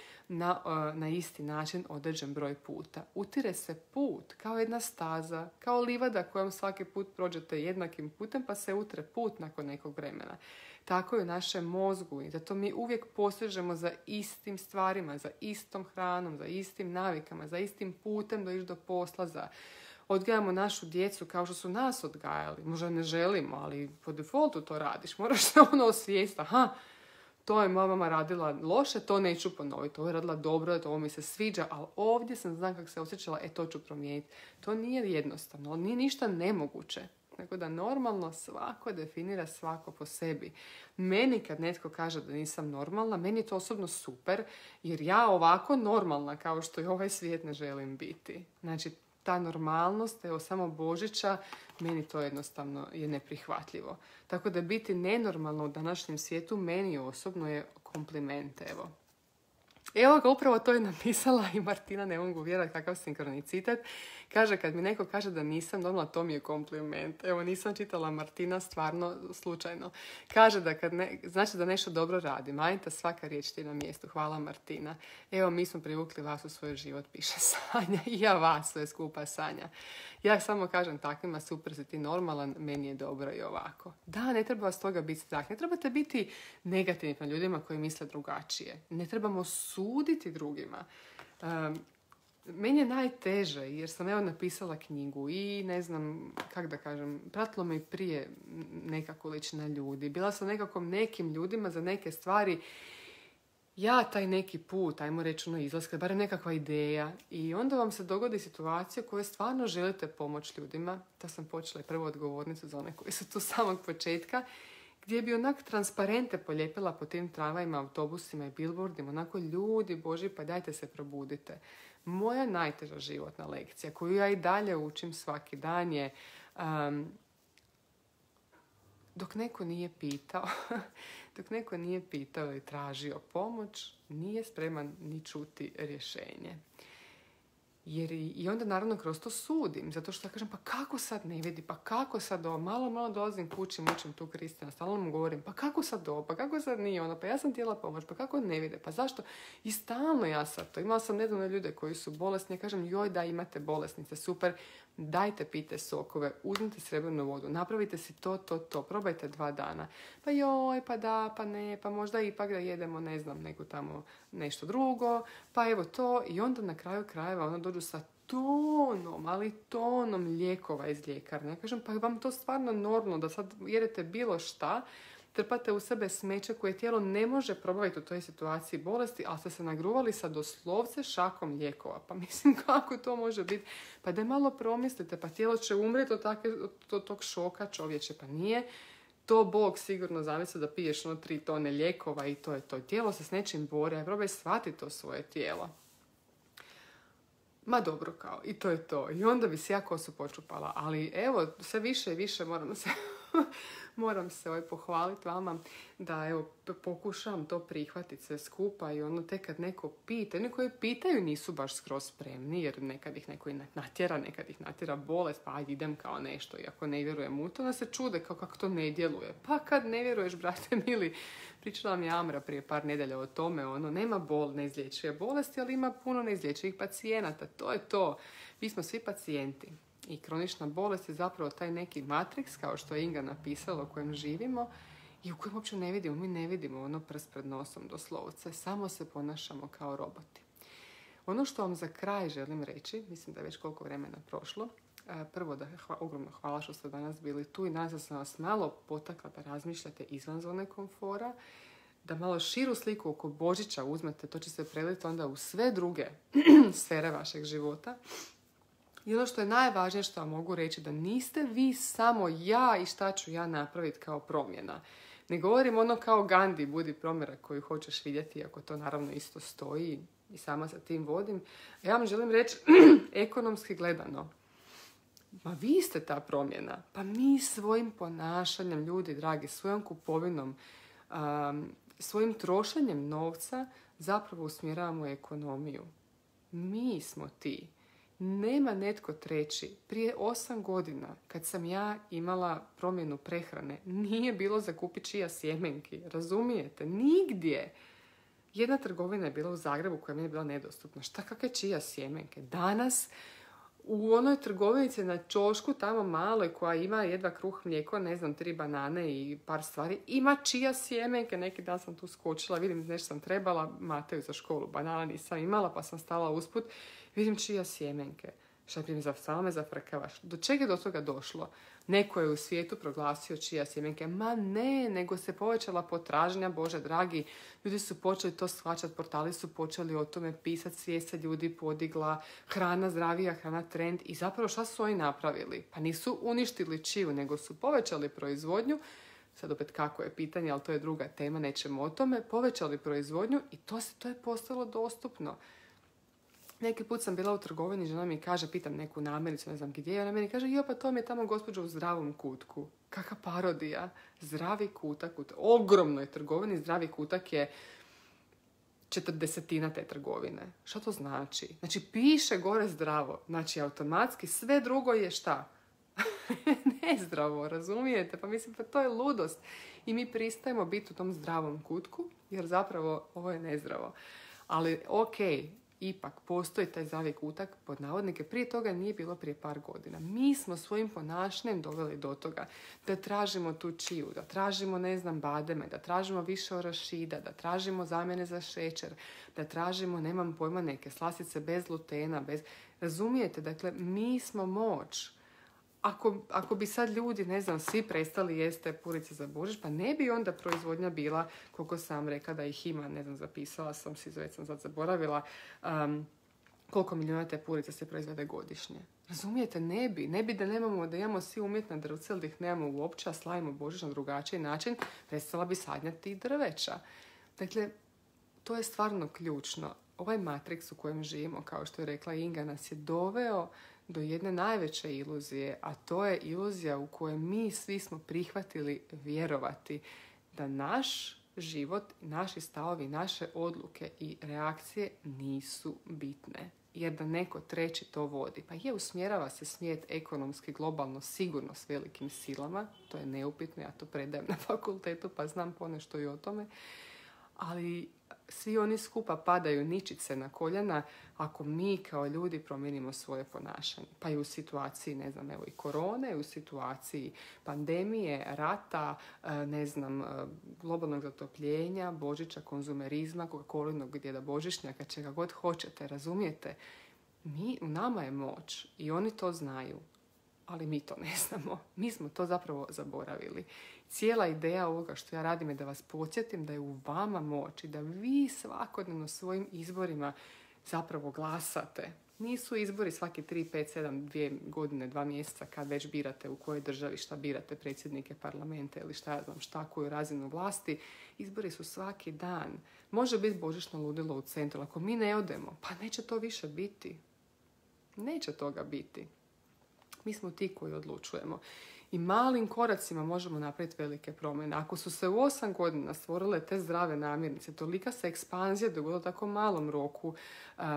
na isti način određen broj puta. Utire se put kao jedna staza, kao livada kojom svaki put prođete jednakim putem pa se utre put nakon nekog vremena. Tako je u našem mozgu i zato mi uvijek posežemo za istim stvarima, za istom hranom, za istim navikama, za istim putem do ići do posla, odgajamo našu djecu kao što su nas odgajali. Možda ne želimo, ali po defaultu to radiš. Moraš se osvijestiti. Aha, to je moja mama radila loše, to neću ponoviti. Ovo je radila dobro, ovo mi se sviđa, ali ovdje sam znam kako se osjećala, to ću promijeniti. To nije jednostavno, nije ništa nemoguće. Tako da normalno svako definira svako po sebi. Meni kad netko kaže da nisam normalna, meni je to osobno super, jer ja ovako normalna kao što i ovaj svijet ne želim biti. Znači, ta normalnost, evo samo Božića, meni to jednostavno je neprihvatljivo. Tako da biti nenormalno u današnjem svijetu meni osobno je kompliment, evo. Evo ga, upravo to je napisala i Martina, ne mogu vjerovati kakav sinkronicitet. Kaže, kad mi neko kaže da nisam normalna, to mi je kompliment. Evo, nisam čitala Martina stvarno slučajno. Kaže da znači da nešto dobro radi. Manita, svaka riječ ti na mjestu. Hvala Martina. Evo, mi smo privukli vas u svoj život, piše Sanja. I ja vas, sve skupa Sanja. Ja samo kažem takvima, super si ti normalan, meni je dobro i ovako. Da, ne treba vas toga biti strah. Ne trebate biti negativni na ljudima koji misle drugačije. Ne trebamo suditi drugima. Meni je najteže jer sam evo napisala knjigu i ne znam kako da kažem, pratilo me i prije neka količina ljudi. Bila sam nekakvom nekim ljudima za neke stvari. Ja taj neki put, ajmo reći izlaska, barem nekakva ideja. I onda vam se dogodi situacija u kojoj stvarno želite pomoći ljudima. Da sam počela i prvu odgovornicu za one koji su tu samog početka. Gdje bi onak transparente polijepila po tim tramvajima, autobusima i billboardima. Onako, ljudi Boži, pa dajte se probudite. Moja najteža životna lekcija, koju ja i dalje učim svaki dan je dok neko nije pitao i tražio pomoć, nije spreman ni čuti rješenje. Jer i onda naravno kroz to sudim, zato što ja kažem pa kako sad ne vidi, pa kako sad ovo, malo dolazim kući, mučim tu Kristina, stalno mu govorim pa kako sad ovo, pa kako sad nije ono, pa ja sam htjela pomoć, pa kako ne vide, pa zašto? I stalno ja sad to, imala sam nedavno ljude koji su bolesni, ja kažem joj da imate bolesnice, super, dajte pite sokove, uzmite srebrnu vodu, napravite si to, probajte 2 dana. Pa joj, pa da, pa ne, pa možda ipak da jedemo, ne znam, nego tamo nešto drugo, pa evo to. I onda na kraju krajeva ono dođu sa tonom lijekova iz ljekarne. Ja kažem, pa vam to stvarno normalno da sad jedete bilo šta, trpate u sebe smeće koje tijelo ne može probaviti u toj situaciji bolesti, ali ste se nagruvali sa doslovce šakom lijekova. Pa mislim, kako to može biti? Pa da malo promislite, pa tijelo će umreti od tog šoka čovječe, pa nije. To Bog sigurno zamisli da piješ 3 tone lijekova i to je to. Tijelo se s nečim bori, a probaj shvatiti to svoje tijelo. Ma dobro kao, i to je to. I onda bi se ja kosu počupala. Ali evo, sve više i više moram se pohvaliti vama da evo, pokušavam to prihvatiti sve skupa i ono tek kad neko pita, oni koji pitaju nisu baš skroz spremni jer nekad ih neko natjera bolest, pa ajde idem kao nešto i ako ne vjerujem u to, onda se čude kako to ne djeluje. Pa kad ne vjeruješ, brate mili, pričala mi Amra prije par nedelja o tome, nema neizlječive bolesti, ali ima puno neizlječivih pacijenata, to je to. Mi smo svi pacijenti. I kronična bolest je zapravo taj neki matriks, kao što je Inga napisala, u kojem živimo i u kojem uopće ne vidimo. Mi ne vidimo prst pred nosom doslovce, samo se ponašamo kao roboti. Ono što vam za kraj želim reći, mislim da je već koliko vremena prošlo, prvo da ogromno hvala što ste danas bili tu i nadam se da sam vas malo potakla da razmišljate izvan zone komfora, da malo širu sliku oko Božića uzmete, to će se preliti onda u sve druge sfere vašeg života. I ono što je najvažnije što vam mogu reći, da niste vi samo ja i šta ću ja napraviti kao promjena. Ne govorim kao Gandhi, budi promjera koju hoćeš vidjeti, ako to naravno isto stoji i sama sa tim vodim. Ja vam želim reći, ekonomski gledano, ma vi ste ta promjena. Pa mi svojim ponašanjem, ljudi dragi, svojom kupovinom, svojim trošenjem novca zapravo usmjeravamo ekonomiju. Mi smo ti. Nema netko treći. Prije 8 godina, kad sam ja imala promjenu prehrane, nije bilo za kupiti čija sjemenki. Razumijete? Nigdje. Jedna trgovina je bila u Zagrebu koja mi je bila nedostupna. Šta kakve čija sjemenke? Danas u onoj trgovinici na ćošku, tamo maloj, koja ima jedva kruh, mlijeko, 3 banane i par stvari, ima čija sjemenke. Neki dan sam tu skočila, vidim nešto sam trebala, Mateju za školu, banana nisam imala, pa sam stala usput, vidim čija sjemenke. Šta bi stala me zafrkavaš? Do čega je do toga došlo? Neko je u svijetu proglasio čija sjemenke. Ma ne, nego se povećala potražnja, Bože dragi. Ljudi su počeli to shvaćati, portali su počeli o tome pisati, svijest se ljudi podigla, hrana zdravija, hrana trend. I zapravo šta su oni napravili? Pa nisu uništili čiju, nego su povećali proizvodnju. Sad opet kako je pitanje, ali to je druga tema, nećemo o tome. Povećali proizvodnju i to je postalo dostupno. Neki put sam bila u trgovini, žena mi kaže, pitam neku namirnicu, ne znam gdje je, ona meni kaže, jo, pa to mi je tamo gospođa u zdravom kutku. Kakva parodija. Zdravi kutak, u ogromnoj trgovini, zdravi kutak je 40 te trgovine. Što to znači? Znači, piše gore zdravo. Znači, automatski sve drugo je šta? Nezdravo, razumijete? Pa mislim, pa to je ludost. I mi pristajemo biti u tom zdravom kutku, jer zapravo ovo je nezdravo. Ali, okej, ipak postoji taj zdravi kutak, pod navodnike, prije toga nije bilo prije par godina. Mi smo svojim ponašanjem doveli do toga da tražimo tu čiju, da tražimo, bademe, da tražimo više orašida, da tražimo zamjene za šećer, da tražimo, nemam pojma, neke slastice bez glutena, Razumijete? Dakle, mi smo moć. Ako bi sad ljudi, svi prestali jesti te purice za Božić, pa ne bi onda proizvodnja bila, koliko sam rekla da ih ima, zapisala sam si, već sam sad zaboravila, koliko milijuna te purice se proizvede godišnje. Razumijete? Ne bi da imamo svi umjetna drvca, ali da ih nemamo uopće, a slavimo Božić na drugačiji način, prestala bi sadnjati drveća. Dakle, to je stvarno ključno. Ovaj matriks u kojem živimo, kao što je rekla Inga, nas je doveo do jedne najveće iluzije, a to je iluzija u kojoj mi svi smo prihvatili vjerovati da naš život, naši stavovi, naše odluke i reakcije nisu bitne. Jer da neko treći to vodi. Pa usmjerava se svijet ekonomski, globalno, sigurno s velikim silama. To je neupitno, ja to predajem na fakultetu pa znam ponešto i o tome. Ali svi oni skupa padaju ničice na koljena ako mi kao ljudi promijenimo svoje ponašanje. Pa i u situaciji, ne znam, evo i korone, u situaciji pandemije, rata, globalnog zatopljenja, Božića, konzumerizma, Coca-Colinog djeda Božićnjaka, čega god hoćete, razumijete? U nama je moć i oni to znaju, ali mi to ne znamo. Mi smo to zapravo zaboravili. Cijela ideja ovoga što ja radim je da vas podsjetim da je u vama moć i da vi svakodnevno svojim izborima zapravo glasate. Nisu izbori svaki 3, 5, 7, 2 godine, 2 mjeseca kad već birate u kojoj državi šta birate, predsjednike parlamenta ili koju razinu vlasti. Izbori su svaki dan. Može biti božićno ludilo u centru. Ako mi ne odemo, pa neće to više biti. Neće toga biti. Mi smo ti koji odlučujemo. I malim koracima možemo napraviti velike promjene. Ako su se u 8 godina stvorile te zdrave namirnice, tolika se ekspanzija dogodila u tako malom roku.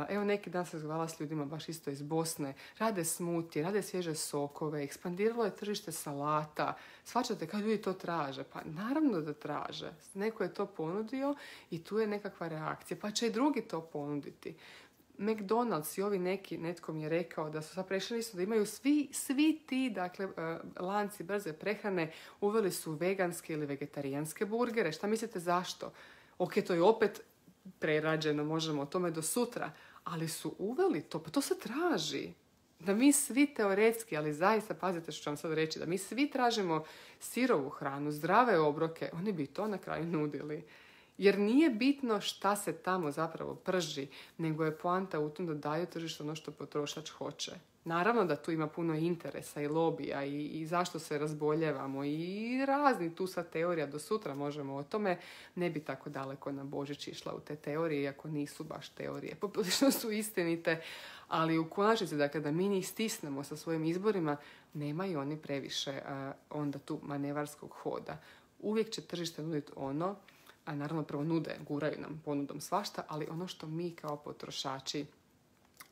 Evo neki dan se razgovarala s ljudima baš isto iz Bosne. Rade smutije, rade svježe sokove, ekspandiralo je tržište salata. Shvaćate kad ljudi to traže? Pa naravno da traže. Neko je to ponudio i tu je nekakva reakcija. Pa će i drugi to ponuditi. McDonald's i ovi netko mi je rekao da su sad prešli isto da imaju svi ti lanci brze prehrane uveli su veganske ili vegetarijanske burgere. Šta mislite zašto? Ok, to je opet prerađeno, možemo o tome do sutra, ali su uveli to, pa to se traži. Da mi svi teoretski, ali zaista, pazite što ću vam sad reći, da mi svi tražimo sirovu hranu, zdrave obroke, oni bi to na kraju nudili. Jer nije bitno šta se tamo zapravo prži, nego je poanta u tom da daju tržištu ono što potrošač hoće. Naravno da tu ima puno interesa i lobija i zašto se razboljevamo i razni tu sad teorija, do sutra možemo o tome. Ne bi tako daleko na Božić išla u te teorije, iako nisu baš teorije. Poprilično su istinite, ali u konačnici da mi njih stisnemo sa svojim izborima, nemaju oni previše onda tu manevarskog hoda. Uvijek će tržište nuditi ono, a naravno prvo guraju nam ponudom svašta, ali ono što mi kao potrošači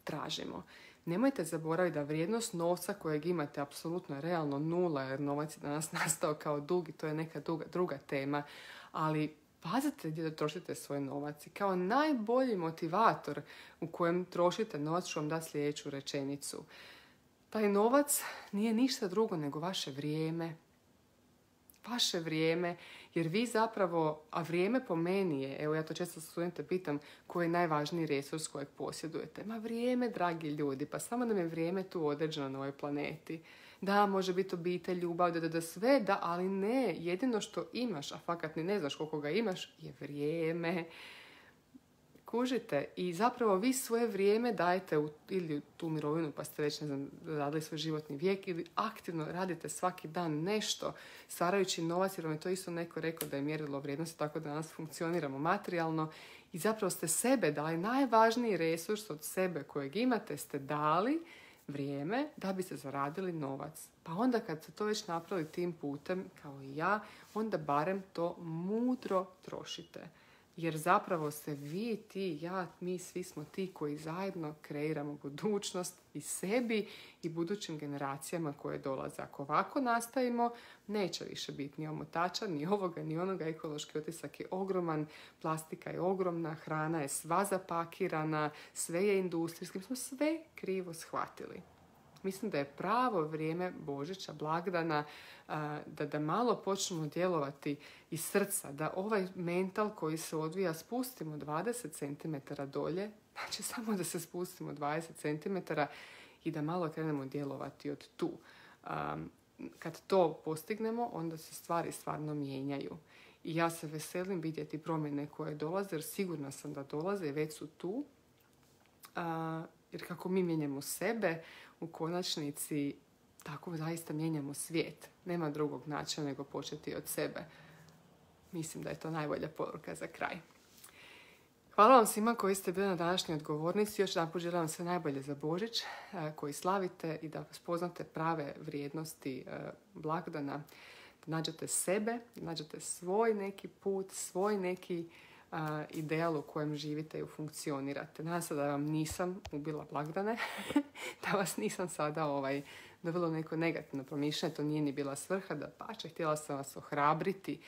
tražimo. Nemojte zaboraviti da vrijednost novca kojeg imate apsolutno je realno nula, jer novac je danas nastao kao dug i to je neka druga tema, ali pazite gdje da trošite svoj novac i kao najbolji motivator u kojem trošite novac ću vam dati sljedeću rečenicu. Taj novac nije ništa drugo nego vaše vrijeme. Vaše vrijeme, jer vi zapravo, a vrijeme po meni je, evo ja to često studente pitam, koji je najvažniji resurs kojeg posjedujete. Ma vrijeme, dragi ljudi, pa samo nam je vrijeme tu određeno na ovoj planeti. Da, može biti obitelj, ljubav, da sve, da, ali ne, jedino što imaš, a fakat ni ne znaš koliko ga imaš, je vrijeme. Kužite, i zapravo vi svoje vrijeme dajete ili tu mirovinu pa ste već radili svoj životni vijek ili aktivno radite svaki dan nešto stvarajući novac, jer vam je to isto neko rekao da je mjerilo vrijednosti, tako da danas funkcioniramo materijalno i zapravo ste sebe dali, najvažniji resurs od sebe kojeg imate ste dali vrijeme da biste zaradili novac. Pa onda kad ste to već napravili tim putem kao i ja, onda barem to mudro trošite. Jer zapravo ste vi, ti, ja, mi, svi smo ti koji zajedno kreiramo budućnost i sebi i budućim generacijama koje dolaze. Ako ovako nastavimo, neće više biti ni omotača, ni ovoga, ni onoga. Ekološki otisak je ogroman, plastika je ogromna, hrana je sva zapakirana, sve je industrijski. Mi smo sve krivo shvatili. Mislim da je pravo vrijeme Božića, blagdana, da malo počnemo djelovati iz srca, da ovaj mental koji se odvija spustimo 20 cm dolje, znači samo da se spustimo 20 cm i da malo krenemo djelovati od tu. Kad to postignemo, onda se stvari stvarno mijenjaju. I ja se veselim vidjeti promjene koje dolaze, jer sigurna sam da dolaze i već su tu. Jer kako mi mijenjamo sebe, u konačnici tako zaista mijenjamo svijet. Nema drugog načina nego početi od sebe. Mislim da je to najbolja poruka za kraj. Hvala vam svima koji ste bili na današnjoj odgovornici. Još jedanput želim vam sve najbolje za Božić koji slavite i da spoznate prave vrijednosti blagdana. da nađete sebe, da nađete svoj neki put, svoj neki ideal u kojem živite i funkcionirate. Nadam se da vam nisam ubila blagdane, da vas nisam sada dovela u neko negativno promišljanje, to nije ni bila svrha, da pače, htjela sam vas ohrabriti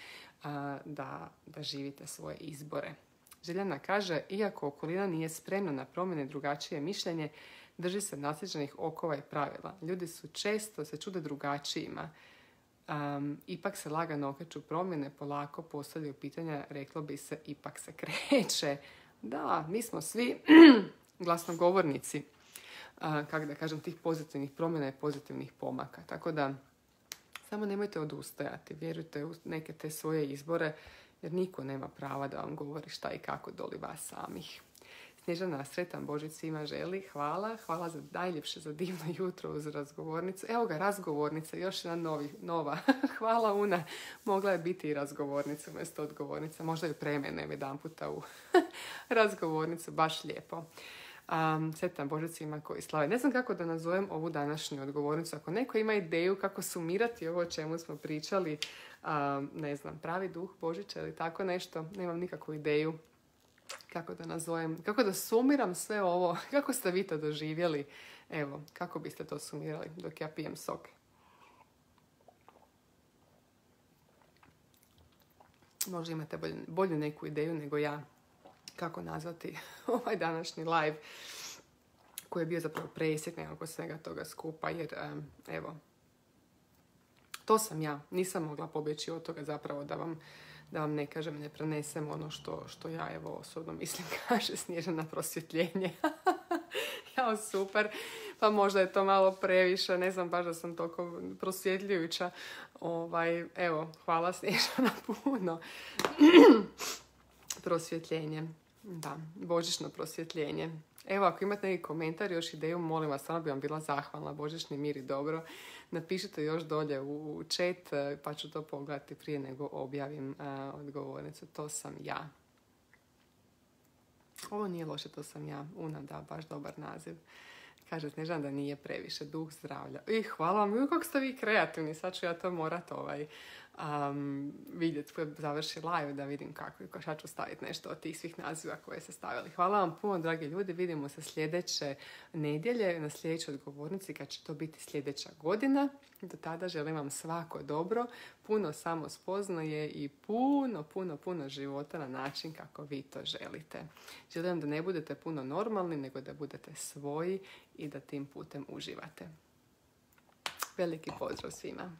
da živite svoje izbore. Željana kaže, iako okolina nije spremna na promjene drugačije mišljenje, drži se nasljeđenih okova i pravila. Ljudi su često se čude drugačijima. Ipak se lagano okreću promjene, polako postavljaju pitanja, reklo bi se, ipak se kreće. Da, mi smo svi glasnogovornici, kako da kažem, tih pozitivnih promjena i pozitivnih pomaka. Tako da, samo nemojte odustajati, vjerujte u neke te svoje izbore, jer niko nema prava da vam govori šta i kako doli vas samih. Snježana, sretan Božić svima želi. Hvala za najljepše, za divno jutro uz razgovornicu. Evo ga, razgovornica, još jedna nova. Hvala Una, mogla je biti i razgovornica umjesto odgovornica. Možda ju premenem jedan puta u razgovornicu, baš lijepo. Sretan Božić svima koji slave. Ne znam kako da nazovem ovu današnju odgovornicu. Ako neko ima ideju kako sumirati ovo o čemu smo pričali, ne znam, pravi duh Božića ili tako nešto, nemam nikakvu ideju kako da nazovem, kako da sumiram sve ovo, kako ste vi to doživjeli, evo, kako biste to sumirali dok ja pijem sok. Možda imate bolju neku ideju nego ja kako nazvati ovaj današnji live koji je bio zapravo presjek nekako svega toga skupa, jer evo, to sam ja, nisam mogla pobjeći od toga zapravo da vam ne kažem, ne prenesem ono što ja evo osobno mislim, kaže Snježana, prosvjetljenje. Jao, super. Pa možda je to malo previše, ne znam baš da sam toliko prosvjetljujuća. Evo, hvala Snježana puno. Prosvjetljenje. Da, božićno prosvjetljenje. Evo, ako imate neki komentar, još ideju, molim vas, stvarno bi vam bila zahvalna. Božićni mir i dobro. Napišite još dolje u chat, pa ću to pogledati prije nego objavim odgovornicu. To sam ja. Ovo nije loše, to sam ja. Una, da, baš dobar naziv. Kaže Snježana da nije previše, duh zdravlja. I hvala vam, kako ste vi kreativni, sad ću ja to morat vidjeti koji završi live da vidim kako, šta ću staviti nešto od tih svih naziva koje ste stavili. Hvala vam puno, dragi ljudi, vidimo se sljedeće nedjelje na sljedećoj odgovornici kad će to biti sljedeća godina. Do tada želim vam svako dobro, puno samospoznaje i puno života na način kako vi to želite. Želim da ne budete puno normalni, nego da budete svoji i da tim putem uživate. Veliki pozdrav svima!